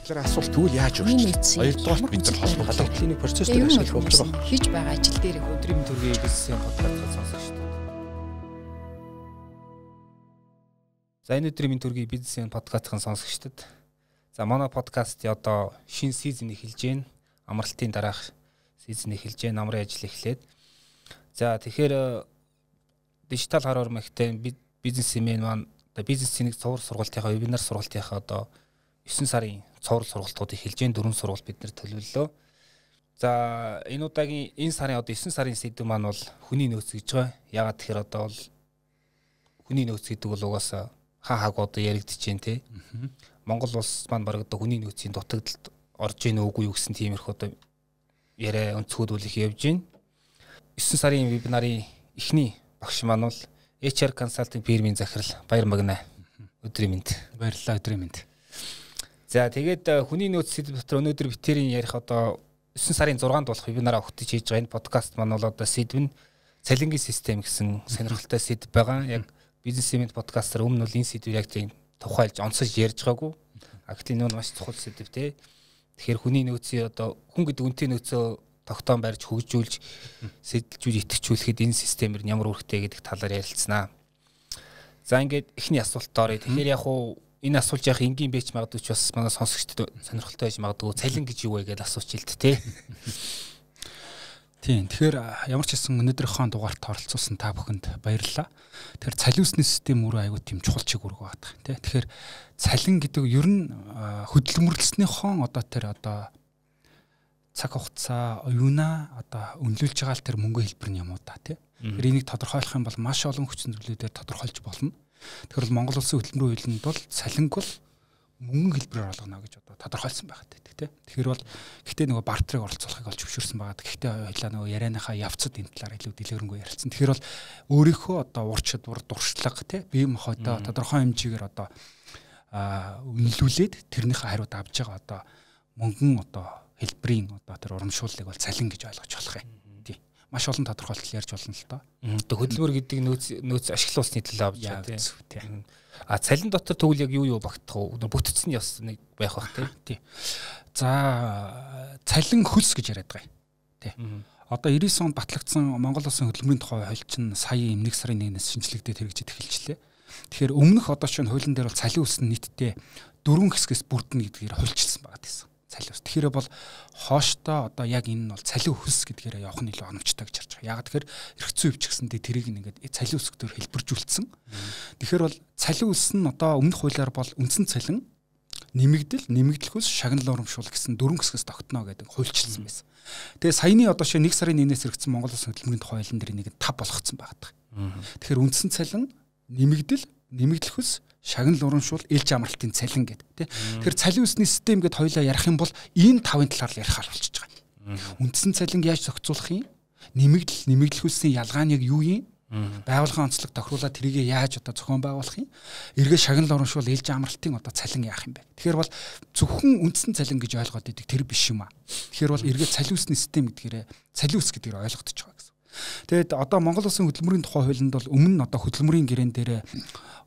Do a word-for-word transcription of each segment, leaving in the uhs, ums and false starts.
Тэр асуулт тэгвэл яаж өөрчлөх? Хоёрдугаар бид нар холбоо халуутлын процессыг ашиглах болж байгаа. Хийж байгаа ажил дээр өдрийн төргийн бизнесийн подкастыг сонсож шүү дээ. За энэ өдрийн төргийн бизнесийн подкастыг сонсогчдод. За манай подкаст одоо шинэ сизон эхэлж байна. Амралтын дараах сизон эхэлж байна. Намрын ажил эхлээд. За тэгэхээр дижитал хар хөрмөгтэй бизнесмен маань одоо бизнесийн цувар сургалтынхаа вебинар сургалтынхаа одоо есөн сарын цуврал сургалтууд эхэлж байна. Дөрвөн сургалт бид нэр төлөвлөлөө. За энэ удаагийн энэ сарын одоо есөн сарын сэдв маань бол хүний нөөц гэж байгаа. Ягаад тэгэхээр одоо бол хүний нөөц гэдэг бол угаасаа хаа хааг одоо яригдэж байна те. Монгол улс маань баг одоо хүний нөөцийн дутагдалд орж ийн үгүй юу гэсэн тиймэрхүү одоо яриа өнцгөөдүүлэх явж байна. есөн сарын вебинарын эхний багш маань бол эйч ар консалтинг фирмийн захирал Баяр Магна. Өдрийн мэнд. Баярлалаа, өдрийн мэнд. За тэгээд хүний нөөц сэдв дотор өнөөдөр битэрийн ярих одоо есөн сарын зургаанд болох вебинараа өгтөж хийж байгаа энэ подкаст маань бол одоо сэдв нь цалингийн систем гэсэн сонирхолтой сэдв байгаа. Яг бизнесмен подкастер өмнө бол энэ сэдвийг яг тийм тухайлж онцож ярьж байгаагүй. А гэтэл энэ маш чухал сэдв те. Тэгэхээр хүний нөөцийн одоо хүн гэдэг үнэтэй нөөцөө тогтоон барьж хөгжүүлж сэдэлжүүл итгэжүүлэхэд энэ системээр ямар үүрэгтэй гэдэг талаар ярилцсанаа. За ингээд эхний асуулт оръё. Тэгэхээр яг уу энэ асуулт яг энгийн бэч магадгүй ч бас манай сонсогчдод сонирхолтой байж магадгүй цалин гэж юу вэ гэж асууж илт те. Тийм. Тэгэхээр ямар ч хэсэн өнөөдрийнхөө дугаарт оролцуулсан та бүхэнд баярлалаа. Тэгэхээр цалин усны систем өөрөө аягүй тийм чухал чиг үүрэг байдаг те. Тэгэхээр цалин гэдэг ер нь хөдөлмөрлснийхөө одоо тэр одоо цаг хугацаа оюуна одоо үнэлүүлж байгаа л тэр мөнгө хэлбэр нь юм уу та тий. Тэр энийг тодорхойлох юм бол маш олон хүчин зүйлүүдээр тодорхойлж болно. Тэгэхээр бол Монгол улсын хөтөлбөрийн хуулинд бол цалинг бол мөнгө хэлбэрээр олгоно гэж одоо тодорхойлсон байгаа гэдэг тий. Тэгэхээр бол гэхдээ нөгөө бартерыг оролцуулахыг олж зөвшөөрсөн байгаа. Гэхдээ хоёлаа нөгөө ярианыхаа явцад энэ талаар илүү дэлгэрэнгүй ярилцсан. Тэгэхээр бол өөрийнхөө одоо ур чадвар дуршлага тий бие махбодоо тодорхой хэмжээгээр одоо үнэлүүлээд тэрнийхээ хариуд авж байгаа одоо мөнгөн одоо хэлбэрийн одоо тэр урамшууллыг бол цалин гэж ойлгож болох юм. Тий. Маш олон тодорхойлолт ярьж болно л доо. Одоо хөдөлмөр гэдэг нөөц нөөц ашиглуулсны төлөө авч байгаа тий. А цалин дотор тэгвэл яг юу юу багтах вэ? Бүтцэн яс нэг байх бах тий. За цалин хөлс гэж яриад байгаа юм. Тий. Одоо девяносто онд батлагдсан Монгол улсын хөдөлмөрийн тухай хууль чинь сая нэг сарын нэгнээс шинжлэгдээд хэрэгжиж эхэлжлээ. Тэгэхээр өмнөх одоо чинь хуулийн дээр бол цалин үс нь нийтдээ дөрвөн хэсгээс бүрдэнэ гэдгээр хуульчилсан байгаа гэсэн. Цалин ус. Тэгэхээр бол хооштой одоо яг энэ нь бол цалин хөлс гэдгээр явах нь илүү оновчтой гэж харж байгаа. Яг тэгэхээр эрхцүү өвч гэсэндээ тэрийг ингээд цалин ус гэдгээр хэлбэржүүлсэн. Тэгэхээр бол цалин ус нь одоо өмнөх хуулиар бол үндсэн цалин нэмэгдэл, нэмэгдэл хөлс, шагнал урамшуул гэсэн дөрвөн хэсгээс тогтно гэдэг хуульчилсан байсан. Тэгээ саяны одоо шээ нэг сарын нэгнээс хэрэгжсэн Монгол улсын хөдөлмөрийн тухай хуулийн дээр нэг тав болгоцсон байгаа. Тэгэхээр үндсэн цалин, нэмэгдэл, нэмэгдэл хөлс, шагнал урамшуул, элж амралтын цалин гэдэг тий. Тэгэхээр цалин усны систем гэдээ хоёлаа ярих юм бол энэ тавын талаар л ярихаар болчихж байгаа. Үндсэн цалинг яаж зохицуулах юм? Нэмэгдэл, нэмэгдэл хөлсийн ялгаа нь яг юу юм? Байгууллагын онцлог тохируулаад тэрийг яаж одоо зохион байгуулах юм? Эргээ шагнал урамшуул, элж амралтын одоо цалин яах юм бэ? Тэгэхээр бол зөвхөн үндсэн цалин гэж ойлгоод идэг тэр биш юм аа. Тэгэхээр бол эргээ цалин усны систем гэдгээр цалин ус гэдгээр ойлгогдож байгаа гэсэн. Тэгэд одоо Монгол улсын хөдөлмөрийн тухай хуулинд бол өмнө нь одоо хөдөлмөрийн гэрээн дээр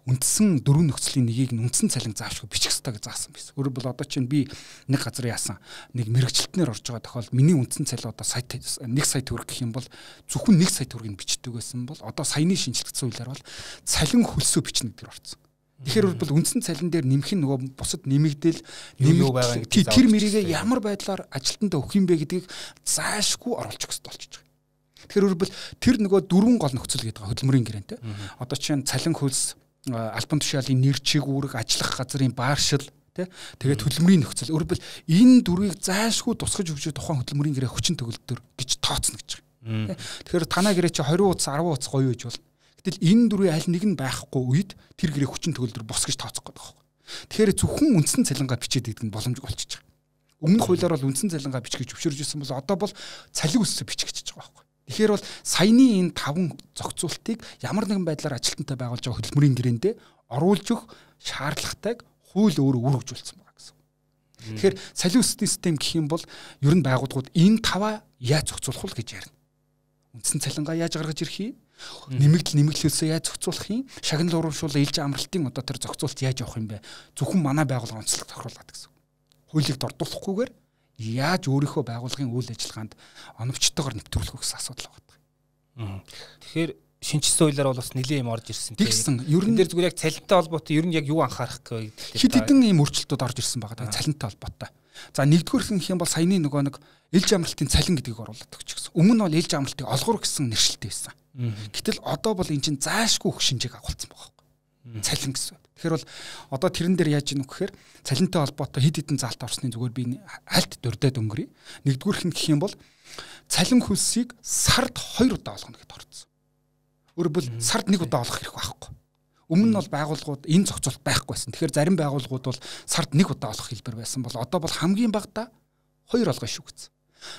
үндсэн дөрвөн нөхцөлийн нэгийг нь үндсэн цалин заавшгүй бичих ёстой гэж заасан байсан. Өөрөөр бол одоо чинь би нэг газар яасан нэг мэрэгчлэлтнэр орж байгаа тохиолдолд миний үндсэн цалин одоо сая нэг сая төгрөг гэх юм бол зөвхөн нэг сая төгрөгийг бичдэг байсан бол одоо саяны шинжилгэсэн хуулиар бол цалин хөлсөө бичнэ гэдгээр орсон. Тэгэхээр бол үндсэн цалин дээр нэмэх нь нөгөө бусад нэмэгдэл нэмэгдэл тэр мэрийгээ ямар байдлаар ажилтнанд өгөх юм бэ гэдгийг заашгүй оруулах хэрэгтэй болчихж байгаа. Тэгэхээр бол тэр нөгөө дөрвөн гол нөхцөл гэдэг хөдөлмөрийн гэрэнтэй. Одоо чинь цалин хөлс, албан тушаалын нэр чиг үүрэг, ажиллах газрын бааршил тий тэгээд хөдөлмөрийн нөхцөл өөрөөр хэлбэл энэ дөрвийг заашгүй тусгаж өгч тухайн хөдөлмөрийн гэрээ хүчин төгөлдөр гэж тооцно гэж байгаа. Тэгэхээр танаа гэрээ чи двадцать утас, десять утас гоё гэж бол. Гэтэл энэ дөрвийн аль нэг нь байхгүй үед тэр гэрээ хүчин төгөлдөр бос гэж тооцох гэдэг байна. Тэгэхээр зөвхөн үндсэн цалингаа бичээд идэх нь боломжгүй болчихж байгаа. Өмнөх хуулиар бол үндсэн цалингаа бичих гэж зөвшөөрж ирсэн бол одоо бол цалин үсээ бичих гэж байгаа байхгүй. Тэгэхээр бол саяны энэ таван зохицуултыг ямар нэгэн байдлаар ажилтнтай байгуулж байгаа хөдөлмөрийн гэрээндээ оруулж өгөх шаардлагатайг хууль өөрөө үүргэжүүлсэн байгаа гэсэн. Тэгэхээр цалин усны систем гэх юм бол ер нь байгууллагууд энэ таваа яаж зохицуулах вэ гэж ярина. Үндсэн цалингаа яаж гаргаж ирэх юм? Нэмэгдэл нэмэгдлөөсөө яаж зохицуулах юм? Шагнал урамшуул, ээлж амралтын одоо тэр зохицуулт яаж явах юм бэ? Зөвхөн манай байгууллага онцлог тохируулаад гэсэн. хуулийг дордуулахгүйгээр яаж өөрийнхөө байгууллагын үйл ажиллагаанд оновчтойгоор нэвтрүүлэх вэ гэсэн асуудал байна. Тэгэхээр шинжсэн хуулиар бол бас нэлийн юм орж ирсэн. Тэгсэн. Ер нь дээр зүгээр яг цалинтай холбоотой ер нь яг юу анхаарах вэ гэдэг. Хэд хэдэн ийм өөрчлөлтүүд орж ирсэн байгаа даа цалинтай холбоотой. За нэгдүгээр нь юм бол саяны нөгөө нэг ээлж амралтын цалин гэдгийг оруулаад өгч гэсэн. Өмнө нь бол ээлж амралтыг олгор гэсэн нэршилтэй байсан. Гэтэл одоо бол эн чинь заашгүй өгөх шинжээг агуулсан байгаа байхгүй. Цалин гэсэн. Тэгэхээр бол одоо тэрэн дээр яаж ийнү гэхээр цалинтай холбоотой хэд хэдэн заалт орсны зүгээр би альт дурдаад өнгөрье. Нэгдүгээр нь гэх юм бол цалин хөлсийг сард хоёр удаа олгоно гэдээ орцсон. Өөрөөр хэлбэл сард нэг удаа олох хэрэг байхгүй. Өмнө нь бол байгууллагууд энэ зохицуулт байхгүйсэн. Тэгэхээр зарим байгууллагууд бол сард нэг удаа олох хэлбэр байсан бол одоо бол хамгийн багадаа хоёр олгоно шүү гэсэн.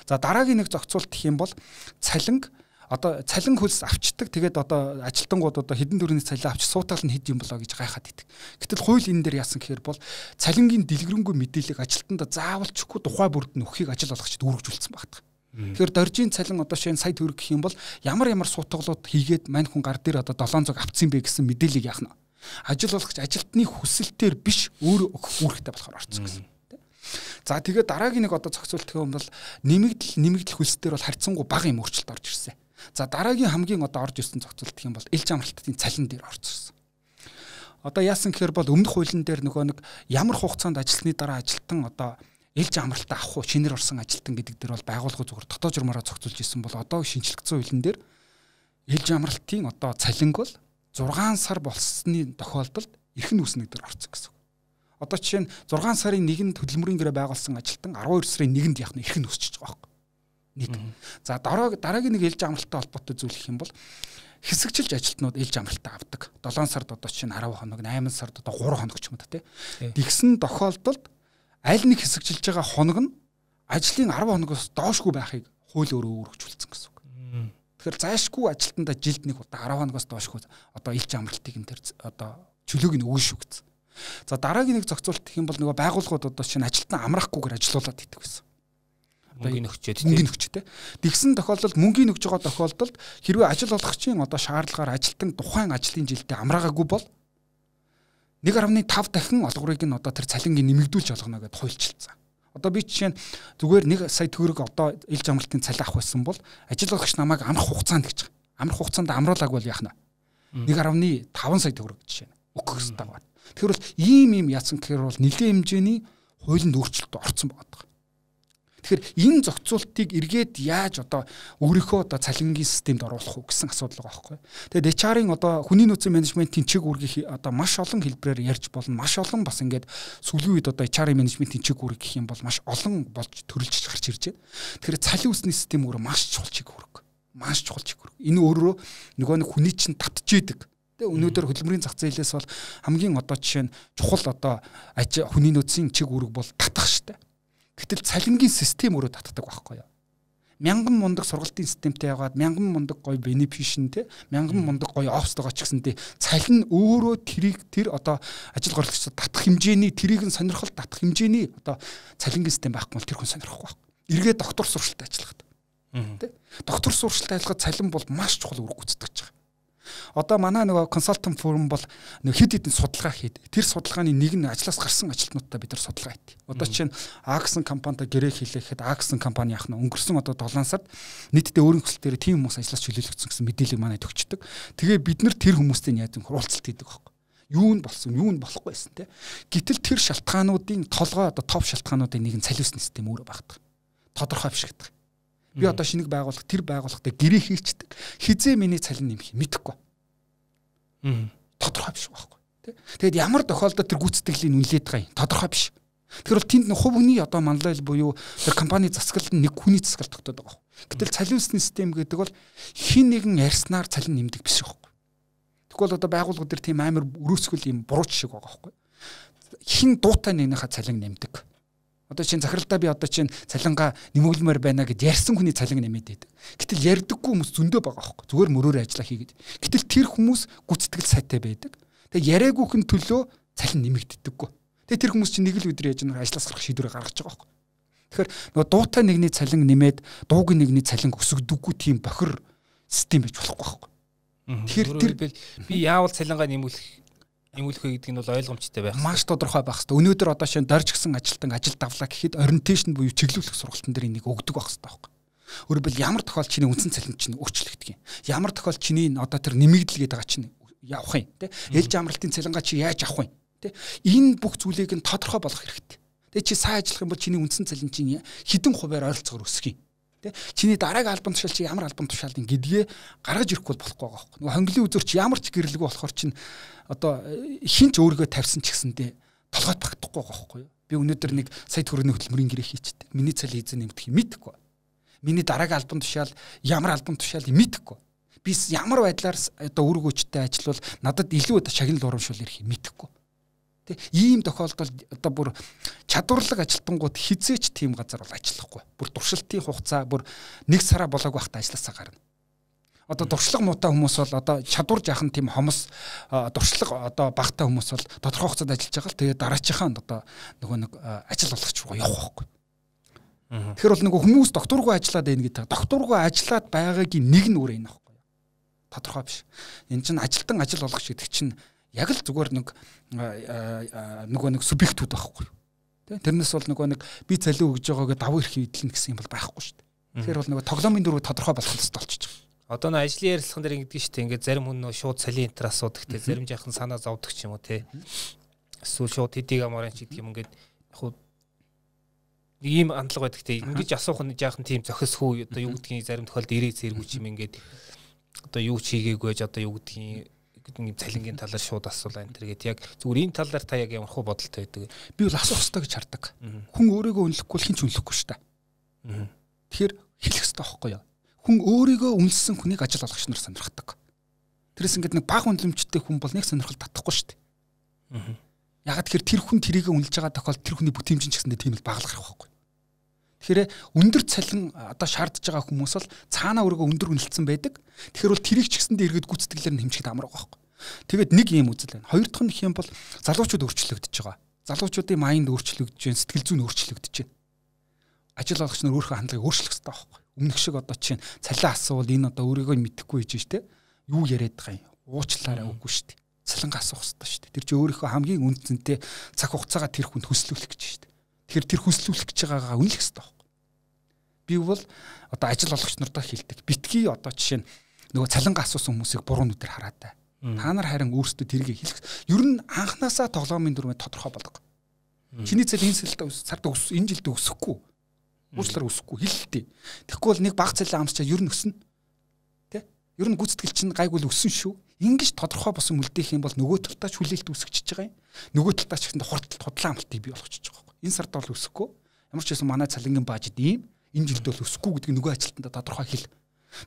За дараагийн нэг зохицуулт гэх юм бол цалинг одоо цалин хөлс авчдаг. Тэгээд одоо ажилтнууд одоо хэдэн төгрөгийн цалин авч суутаал нь хэд юм болоо гэж гайхаад идэг. Гэтэл хууль энэ дээр яасан гэхээр бол цалингийн дэлгэрэнгүй мэдээллийг ажилтнаа заавалчгүй тухай бүрд нь өгөхийг ажил олгогчид үүргэжүүлсэн багтдаг. Тэгэхээр доржийн цалин одоо шинэ сая төгрөг гэх юм бол ямар ямар суутгалууд хийгээд мань хүн гар дээр одоо долоон цог авцсан бэ гэсэн мэдээллийг яах нь. Ажил олгогч ажилтны хүсэлтээр биш өөрөө өгөх үүрэгтэй болохоор орцсон гэсэн. За тэгээд дараагийн нэг одоо зохицуулт гэх юм бол нэмэгдэл нэмэгдэл хөлсдөр бол харьцангуй бага юм өөрчлөлт орж ирсэн. За дараагийн хамгийн одоо орж ирсэн зохицуулт гэх юм бол ээлж амралтын цалин дээр орж ирсэн. Одоо яасан гэхээр бол өмнөх хуулийн дээр нөгөө нэг ямар хугацаанд ажилласны дараа ажилтан одоо ээлж амралтаа авах уу шинээр орсон ажилтан гэдэг дээр бол байгууллага зүгээр дотоод журмаараа зохицуулж ирсэн бол одоо шинжлэгдсэн хуулийн дээр ээлж амралтын одоо цалинг бол зургаан сар болсны тохиолдолд эрхэм үүснэг дээр орсон гэсэн. Одоо жишээ нь зургаан сарын нэгэнд хөдөлмөрийн гэрээ байгуулсан ажилтан арван хоёр сарын нэгэнд яах нь эрхэм үүсчихэж байгаа байхгүй. Нэг. За дараа дараагийн нэг ээлж амралттай холбоотой зүйл гэх юм бол хэсэгчилж ажилтнууд ээлж амралтаа авдаг. долоон сард одоо чинь арав хоног, найман сард одоо гурван хоног ч юм уу тий. Тэгсэн тохиолдолд аль нэг хэсэгчилж байгаа хоног нь ажлын арав хоногоос доошгүй байхыг хууль өөрөө өөрчлөлтсөн гэсэн үг. Тэгэхээр зайшгүй ажилтнаа жилд нэг удаа арав хоногоос доошгүй одоо ээлж амралтыг энэ төр одоо чөлөөг нь өгнө шүү гэсэн. За дараагийн нэг зохицуулт гэх юм бол нөгөө байгууллагууд одоо чинь ажилтнаа амраахгүйгээр ажилуулад идэг гэсэн. Мөнгөний өгчээд мөнгөний өгчтэй. Тэгсэн тохиолдолд мөнгөний өгж байгаа тохиолдолд хэрвээ ажил олгогчийн одоо шаардлагаар ажилтан тухайн ажлын жилдээ амраагаагүй бол нэг гаруй тав дахин олгорыг нь одоо тэр цалингийн нэмэгдүүлж олгоно гэдээ хуульчилсан. Одоо би жишээ нь зүгээр нэг сая төгрөг одоо ээлж амралтын цалин авах байсан бол ажил олгогч намайг амрах хугацаанд гэж байгаа. Амрах хугацаанд амруулаагүй бол яах нь нэг гаруй таван сая төгрөг жишээ нь өгөх хэрэгтэй байна. Тэгэхээр бол ийм ийм яасан гэхээр бол нэлээд хэмжээний хуулинд өөрчлөлт орсон байгаа. Тэгэхээр энэ зохицуултыг эргээд яаж одоо өөрийнхөө одоо цалингийн системд оруулах уу гэсэн асуудал байгаа байхгүй. Тэгээд эйч ар-ын одоо хүний нөөцийн менежментийн чиг үүргийг одоо маш олон хэлбэрээр ярьж болно. Маш олон бас ингээд сүүлийн үед одоо эйч ар-ын менежментийн чиг үүрэг гэх юм бол маш олон болж төрөлж гарч ирж байна. Тэгэхээр цалин үүсний систем өөрөө маш чухал чиг үүрэг. Маш чухал чиг үүрэг. Энэ өөрөө нөгөө нэг хүний чинь татчихийдэг. Тэгээ өнөөдөр хөдөлмөрийн зах зээлээс бол хамгийн одоо жишээ нь чухал одоо хүний нөөцийн чиг үүрэг бол татах штэ. Гэтэл цалингийн систем өөрөө татдаг байхгүй юу? Мянган мундаг сургалтын системтэй яагаад мянган мундаг гоё бенефишн те мянган мундаг гоё офстойгоо ч гэсэнтэй цалин өөрөө тэрийг тэр одоо ажил горлогчдод татах хэмжээний тэрийг нь сонирхол татах хэмжээний одоо цалингийн систем байхгүй бол тэр хүн сонирхгүй байхгүй. Эргээд доктор сургалтад ажиллахад. Тэ? Доктор сургалтад ажиллахад цалин бол маш чухал үүрэг гүйцэтгэж байгаа. Одоо манай нөгөө консалтинг фирм бол нэг хэд хэдэн судалгаа хийдэг. Тэр судалгааны нэг нь ажлаас гарсан ажилтнуудтай бид нар судалгаа хийдэг. Одоо чинь А гэсэн компанитай гэрээ хийлэхэд А гэсэн компани яах нь өнгөрсөн одоо долоон сард нийтдээ өөрийн хүсэлтээр тийм хүмүүс ажлаас чөлөөлөгдсөн гэсэн мэдээлэл манайд өгчдөг. Тэгээ бид нар тэр хүмүүстэй яаж юм хуралцалт хийдэг байхгүй. Юу нь болсон, юу нь болохгүй байсан те. Гэтэл тэр шалтгаануудын толгой одоо топ шалтгаануудын нэг нь цалин усны систем өөрөө багтдаг. Тодорхой биш гэдэг. Би одоо шинийг байгуулах тэр байгууллагатай гэрээ хийчдэг. Хизээ миний цалин нэмэх мэдэхгүй. Тодорхой биш байхгүй. Тэгээд ямар тохиолдолд тэр гүйцэтгэлийн үнэлээд байгаа юм тодорхой биш. Тэгэхээр бол тэнд хувь хүний одоо манлайл буюу тэр компани засаглалт нь нэг хүний засаглалт тогтоод байгаа. Гэтэл цалин усны систем гэдэг бол хин нэгэн ярьснаар цалин нэмдэг биш байхгүй. Тэгвэл одоо байгууллагууд төр тийм амар өрөөсгөл юм бурууч шиг байгаа байхгүй. Хин дуутай нэгнийхээ цалин нэмдэг. Одоо чинь захиралдаа би одоо чинь цалингаа нэмүүлмээр байна гэд ярьсан хүний цалин нэмээд байдаг. Гэтэл ярьдаггүй хүмүүс зөндөө байгаа байхгүй. Зүгээр мөрөөр ажиллаа хийгээд. Гэтэл тэр хүмүүс гүцэтгэл сайтай байдаг. Тэгээ яриагүйхэн төлөө цалин нэмэгддэггүй. Тэгээ тэр хүмүүс чинь нэг л өдөр яаж нэг ажлаас гарах шийдвэрээ гаргаж байгаа байхгүй. Тэгэхээр нөгөө дуутай нэгний цалин нэмээд дуугийн нэгний цалин өсөгдөггүй тийм бохир систем байж болохгүй байхгүй. Тэгэхээр тэр би яавал цалингаа нэмүүлэх Эмүүлэх гэдэг нь бол ойлгомжтой байх. Маш тодорхой байх хэрэгтэй. Өнөөдөр одоо шинэ дорж гисэн ажилтан ажил давлаа гэхэд ориентейшн буюу чиглүүлэх сургалтын дээр энийг өгдөг байх хэрэгтэй байхгүй. Өөрөөр ямар тохиол чиний үндсэн цалин чинь өөрчлөгдөх юм. Ямар тохиол чиний одоо тэр нэмэгдэл гэдэг байгаа чинь явах юм тий. Ээлж амралтын цалингаа чи яаж авах юм тий. Энэ бүх зүйлийг нь тодорхой болгох хэрэгтэй. Тэгээ чи сайн ажиллах юм бол чиний үндсэн цалин чинь хэдэн хувиар ойролцоогоор өсөх юм. Тэ чиний дараагийн албан тушаал чи ямар албан тушаалын гэдгээ гаргаж ирэхгүй болохгүй байгаа байхгүй. Нөгөө хонглын үзүүр чи ямар ч гэрлэгүй болохоор чинь одоо хинч өөрийгөө тавьсан ч гэсэндээ толгойд багтахгүй байгаа байхгүй юу. Би өнөөдөр нэг сая төгрөгийн хөтөлмөрийн гэрээ хийчихдээ. Миний цалин эзэн нэмдэх юм мэдэхгүй. Миний дараагийн албан тушаал ямар албан тушаалыг мэдэхгүй. Би ямар байдлаар одоо үр өгөөчтэй ажиллавал надад илүү одоо шагнал урамшуул ирэх юм мэдэхгүй. Тэ ийм тохиолдолд одоо бүр чадварлаг ажилтнууд хизээч тийм газар бол ажиллахгүй. Бүр туршилтын хугацаа бүр нэг сараа болоог байхдаа ажилласаа гарна. Одоо туршлага муутай хүмүүс бол одоо чадвар жаахан тийм хомос туршлага одоо багтай хүмүүс бол тодорхой хугацаанд ажиллаж байгаа л тэгээ дараачихаа одоо нөгөө нэг ажил олгоч руу явах байхгүй. Тэгэхээр бол нөгөө хүмүүс докторгүй ажиллаад байна гэдэг. Докторгүй ажиллаад байгаагийн нэг нь өөр юм аахгүй. Тодорхой биш. Энэ чинь ажилтан ажил олгоч гэдэг чинь яг л зүгээр нэг нөгөө нэг субъектүүд байхгүй. Тэ тэрнээс бол нөгөө нэг би цалин өгж байгаагээ давуу эрх эдлэн гэсэн юм бол байхгүй шүү дээ. Тэгэхээр бол нөгөө тоглоомын дөрөв тодорхой болох хэрэгтэй болчихж байгаа. Одоо нөө ажлын ярилцлаган дээр ингэдэг шүү дээ. Ингээд зарим хүн нөө шууд цалин энтер асуудаг те зарим жаахан санаа зовдөг ч юм уу те. Эсвэл шууд хэдийг амаарч гэдэг юм ингээд яг хуу ийм хандлага байдаг те. Ингэж асуух нь жаахан тийм зохисгүй одоо юу гэдгийг зарим тохиолдолд ирээ зэргүй юм ингээд одоо юу ч хийгээгүй ч одоо юу гэдгийг гэдэг цалингийн талаар шууд асуулаа энэ төргээд яг зүгээр энэ талаар та яг ямар хөө бодолтой байдаг. Би бол асуух хэрэгтэй гэж хардаг. Хүн өөрийгөө үнэлэхгүй л хин ч үнэлэхгүй шүү дээ. Тэгэхээр хэлэх хэрэгтэй байхгүй юу? Хүн өөрийгөө үнэлсэн хүнийг ажил олгогч нар сонирхдаг. Тэрээс ингээд нэг бага үнэлэмжтэй хүн бол нэг сонирхол татахгүй шүү дээ. Ягаад тэгэхээр тэр хүн тэрийг үнэлж байгаа тохиолдолд тэр хүний бүтээмжийн ч гэсэндээ тийм л баглах байхгүй. Тэгэхээр өндөр цалин одоо шаардж байгаа хүмүүс бол цаанаа өөрийгөө өндөр үнэлсэн байдаг. Тэгэхээр бол тэрийг ч гэсэндээ эргээд гүйцэтгэлээр нь хэмжихэд амар байгаа байхгүй. Тэгээд нэг юм үзэл байна. Хоёр дахь нь их юм бол залуучууд өөрчлөгдөж байгаа. Залуучуудын майнд өөрчлөгдөж байна, сэтгэл зүйн өөрчлөгдөж байна. Ажил олгогч нар өөрийнхөө хандлагыг өөрчлөх хэрэгтэй байхгүй. Өмнөх шиг одоо чинь цалин асуувал энэ одоо өөрийгөө мэдэхгүй хийж штэ. Юу яриад байгаа юм? Уучлаарай үгүй штэ. Цалингаа асуух хэрэгтэй штэ. Тэр чинь өөрийнхөө хамгийн үнцэнтэй цаг хугацаагаа тэр хүнд хүслүүлэх гэж штэ. Тэгэхээр тэр хүслүүлэх гэж байгаагаа үнэлэх хэрэгтэй байхгүй. Би бол одоо ажил олгогч нартаа хэлдэг. Битгий одоо жишээ нь нөгөө цалингаа асуусан хүмүүсийг буруу нүдээр хараад бай. Та нар харин өөрсдөө тэргийг хэлэх. Ер нь анханасаа тоглоомын дүрмээ тодорхой болго. Чиний цалин энэ сард өс энэ жилд өсөхгүй. Уучлаар өсөхгүй хэлэлтэй. Тэгэхгүй бол нэг баг цалин амсчаа ер нь өснө. Тэ? Ер нь гүйцэтгэл чинь гайгүй л өссөн шүү. Ингиж тодорхой босон үлдээх юм бол нөгөө талдаа хүлээлт үүсгэж байгаа юм. Нөгөө талдаа ч ихэнх хурдталт худлаа амтыг бий болгочихж байгаа байхгүй. Энэ сард бол өсөхгүй. Ямар ч байсан манай цалингийн бажид ийм. Энэ жилд бол өсөхгүй гэдгийг нөгөө ажилтнаа тодорхой хэл.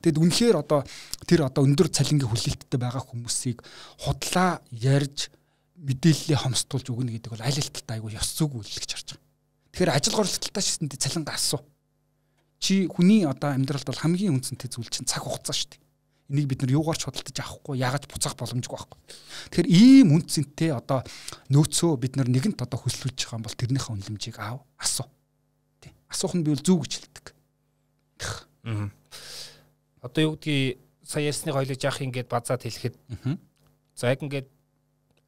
Тэгэд үнэхээр одоо тэр одоо өндөр цалингийн хүлээлттэй байгаа хүмүүсийг худлаа ярьж мэдээлэлээ хомсдуулж өгнө гэдэг бол аль аль талтай айгүй ёс зүг үйлчлэж харж байгаа. Тэгэхээр ажил горлолттой шисэндээ цалингаа асуу. Чи хүний одоо амьдралд бол хамгийн үнцэнтэй зүйл чинь цаг хугацаа шүү дээ. Энийг бид нар юугаар ч худалдаж авахгүй, яагаад буцаах боломжгүй байхгүй. Тэгэхээр ийм үнцэнтэй одоо нөөцөө бид нар нэгэнт одоо хөслүүлж байгаа юм бол тэрнийхээ үнэлэмжийг аав, асуу. Тий. Асуух нь би бол зүг гэж хэлдэг. Аа. Одоо юу гэдгийг сая ярьсны хоёлыг яах ингээд базаад хэлэхэд за яг ингээд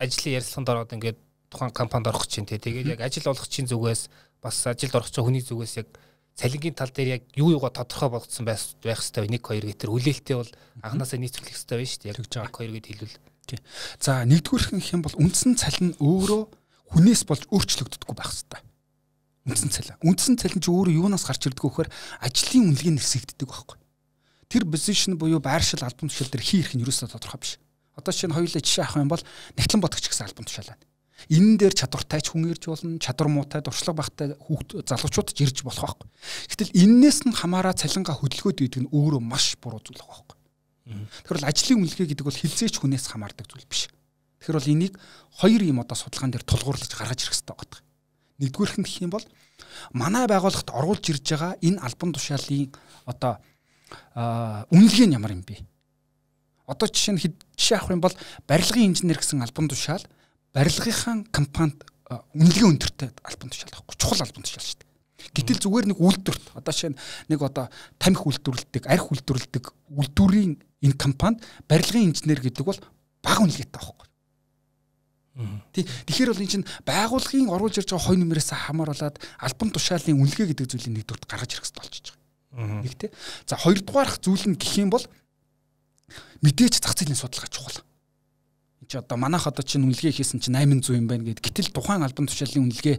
ажлын ярилцлаганд ороод ингээд тухайн компанид орох чинь тэгээд яг ажил олгогчийн зүгээс бас ажилд орох чинь хүний зүгээс яг цалингийн тал дээр яг юу юугаа тодорхой болгоцсон байх хэрэгтэй нэг хоёр гэтэр хүлээлттэй бол анханасаа нийцүүлэх хэрэгтэй байна шүү дээ. Яг нэг хоёр гэд хэлвэл. Тий. За нэгдүгээр их юм бол үндсэн цалин өөрөө хүнээс болж өөрчлөгддөггүй байх хэрэгтэй. Үндсэн цалин. Үндсэн цалин чи өөрөө юунаас гарч ирдэг вэ гэхээр ажлын үнэлгээ нэрсэгддэг байхгүй. Тэр позишн буюу байршил албан тушаал дээр хий ирэх нь юусаа тодорхой биш. Одоо чинь хоёулаа жишээ авах юм бол Нягтлан бодогч гэсэн албан тушаал байна. Энэ дээр чадвартай ч хүн ирж болно, чадвар муутай, дуршлаг багтай хүүхд залуучууд ч ирж болох байхгүй. Гэтэл энээс нь хамаараа цалингаа хөдөлгөөд үйдэг нь өөрөө маш буруу зүйл байхгүй. Тэгэхээр бол ажлын үнэлгээ гэдэг бол хизээч хүнээс хамаардаг зүйл биш. Тэгэхээр бол энийг хоёр юм одоо судалгаан дээр тулгуурлаж гаргаж ирэх хэрэгтэй байна. Нэгдүгээрх нь гэх юм бол манай байгууллагт оруулж ирж байгаа энэ албан тушаалын одоо үнэлгээ нь ямар юм бэ? Одоо жишээ нь жишээ авах юм бол барилгын инженер гэсэн албан тушаал барилгынхаа компанид үнэлгээ өндөртэй албан тушаал байхгүй чухал албан тушаал шүү дээ. Гэтэл зүгээр нэг үйлдвэрт одоо жишээ нь нэг одоо тамхи үйлдвэрлэдэг, арх үйлдвэрлэдэг үйлдвэрийн энэ компанид барилгын инженер гэдэг бол бага үнэлгээтэй байхгүй. Тэгэхээр бол энэ чинь байгууллагын оруулж ирж байгаа хой нэмрээс хамааруулаад албан тушаалын үнэлгээ гэдэг зүйлийг нэгдүгээр гаргаж ирэх хэрэгтэй болчихж байгаа. Нэг тий. За хоёрдугаарх зүйл нь гэх юм бол мэдээж зах зээлийн судалгаа чухал. Энд чи одоо манайх одоо чинь үнэлгээ хийсэн чинь восемь сая юм байна гэд. Гэтэл тухайн албан тушаалын үнэлгээ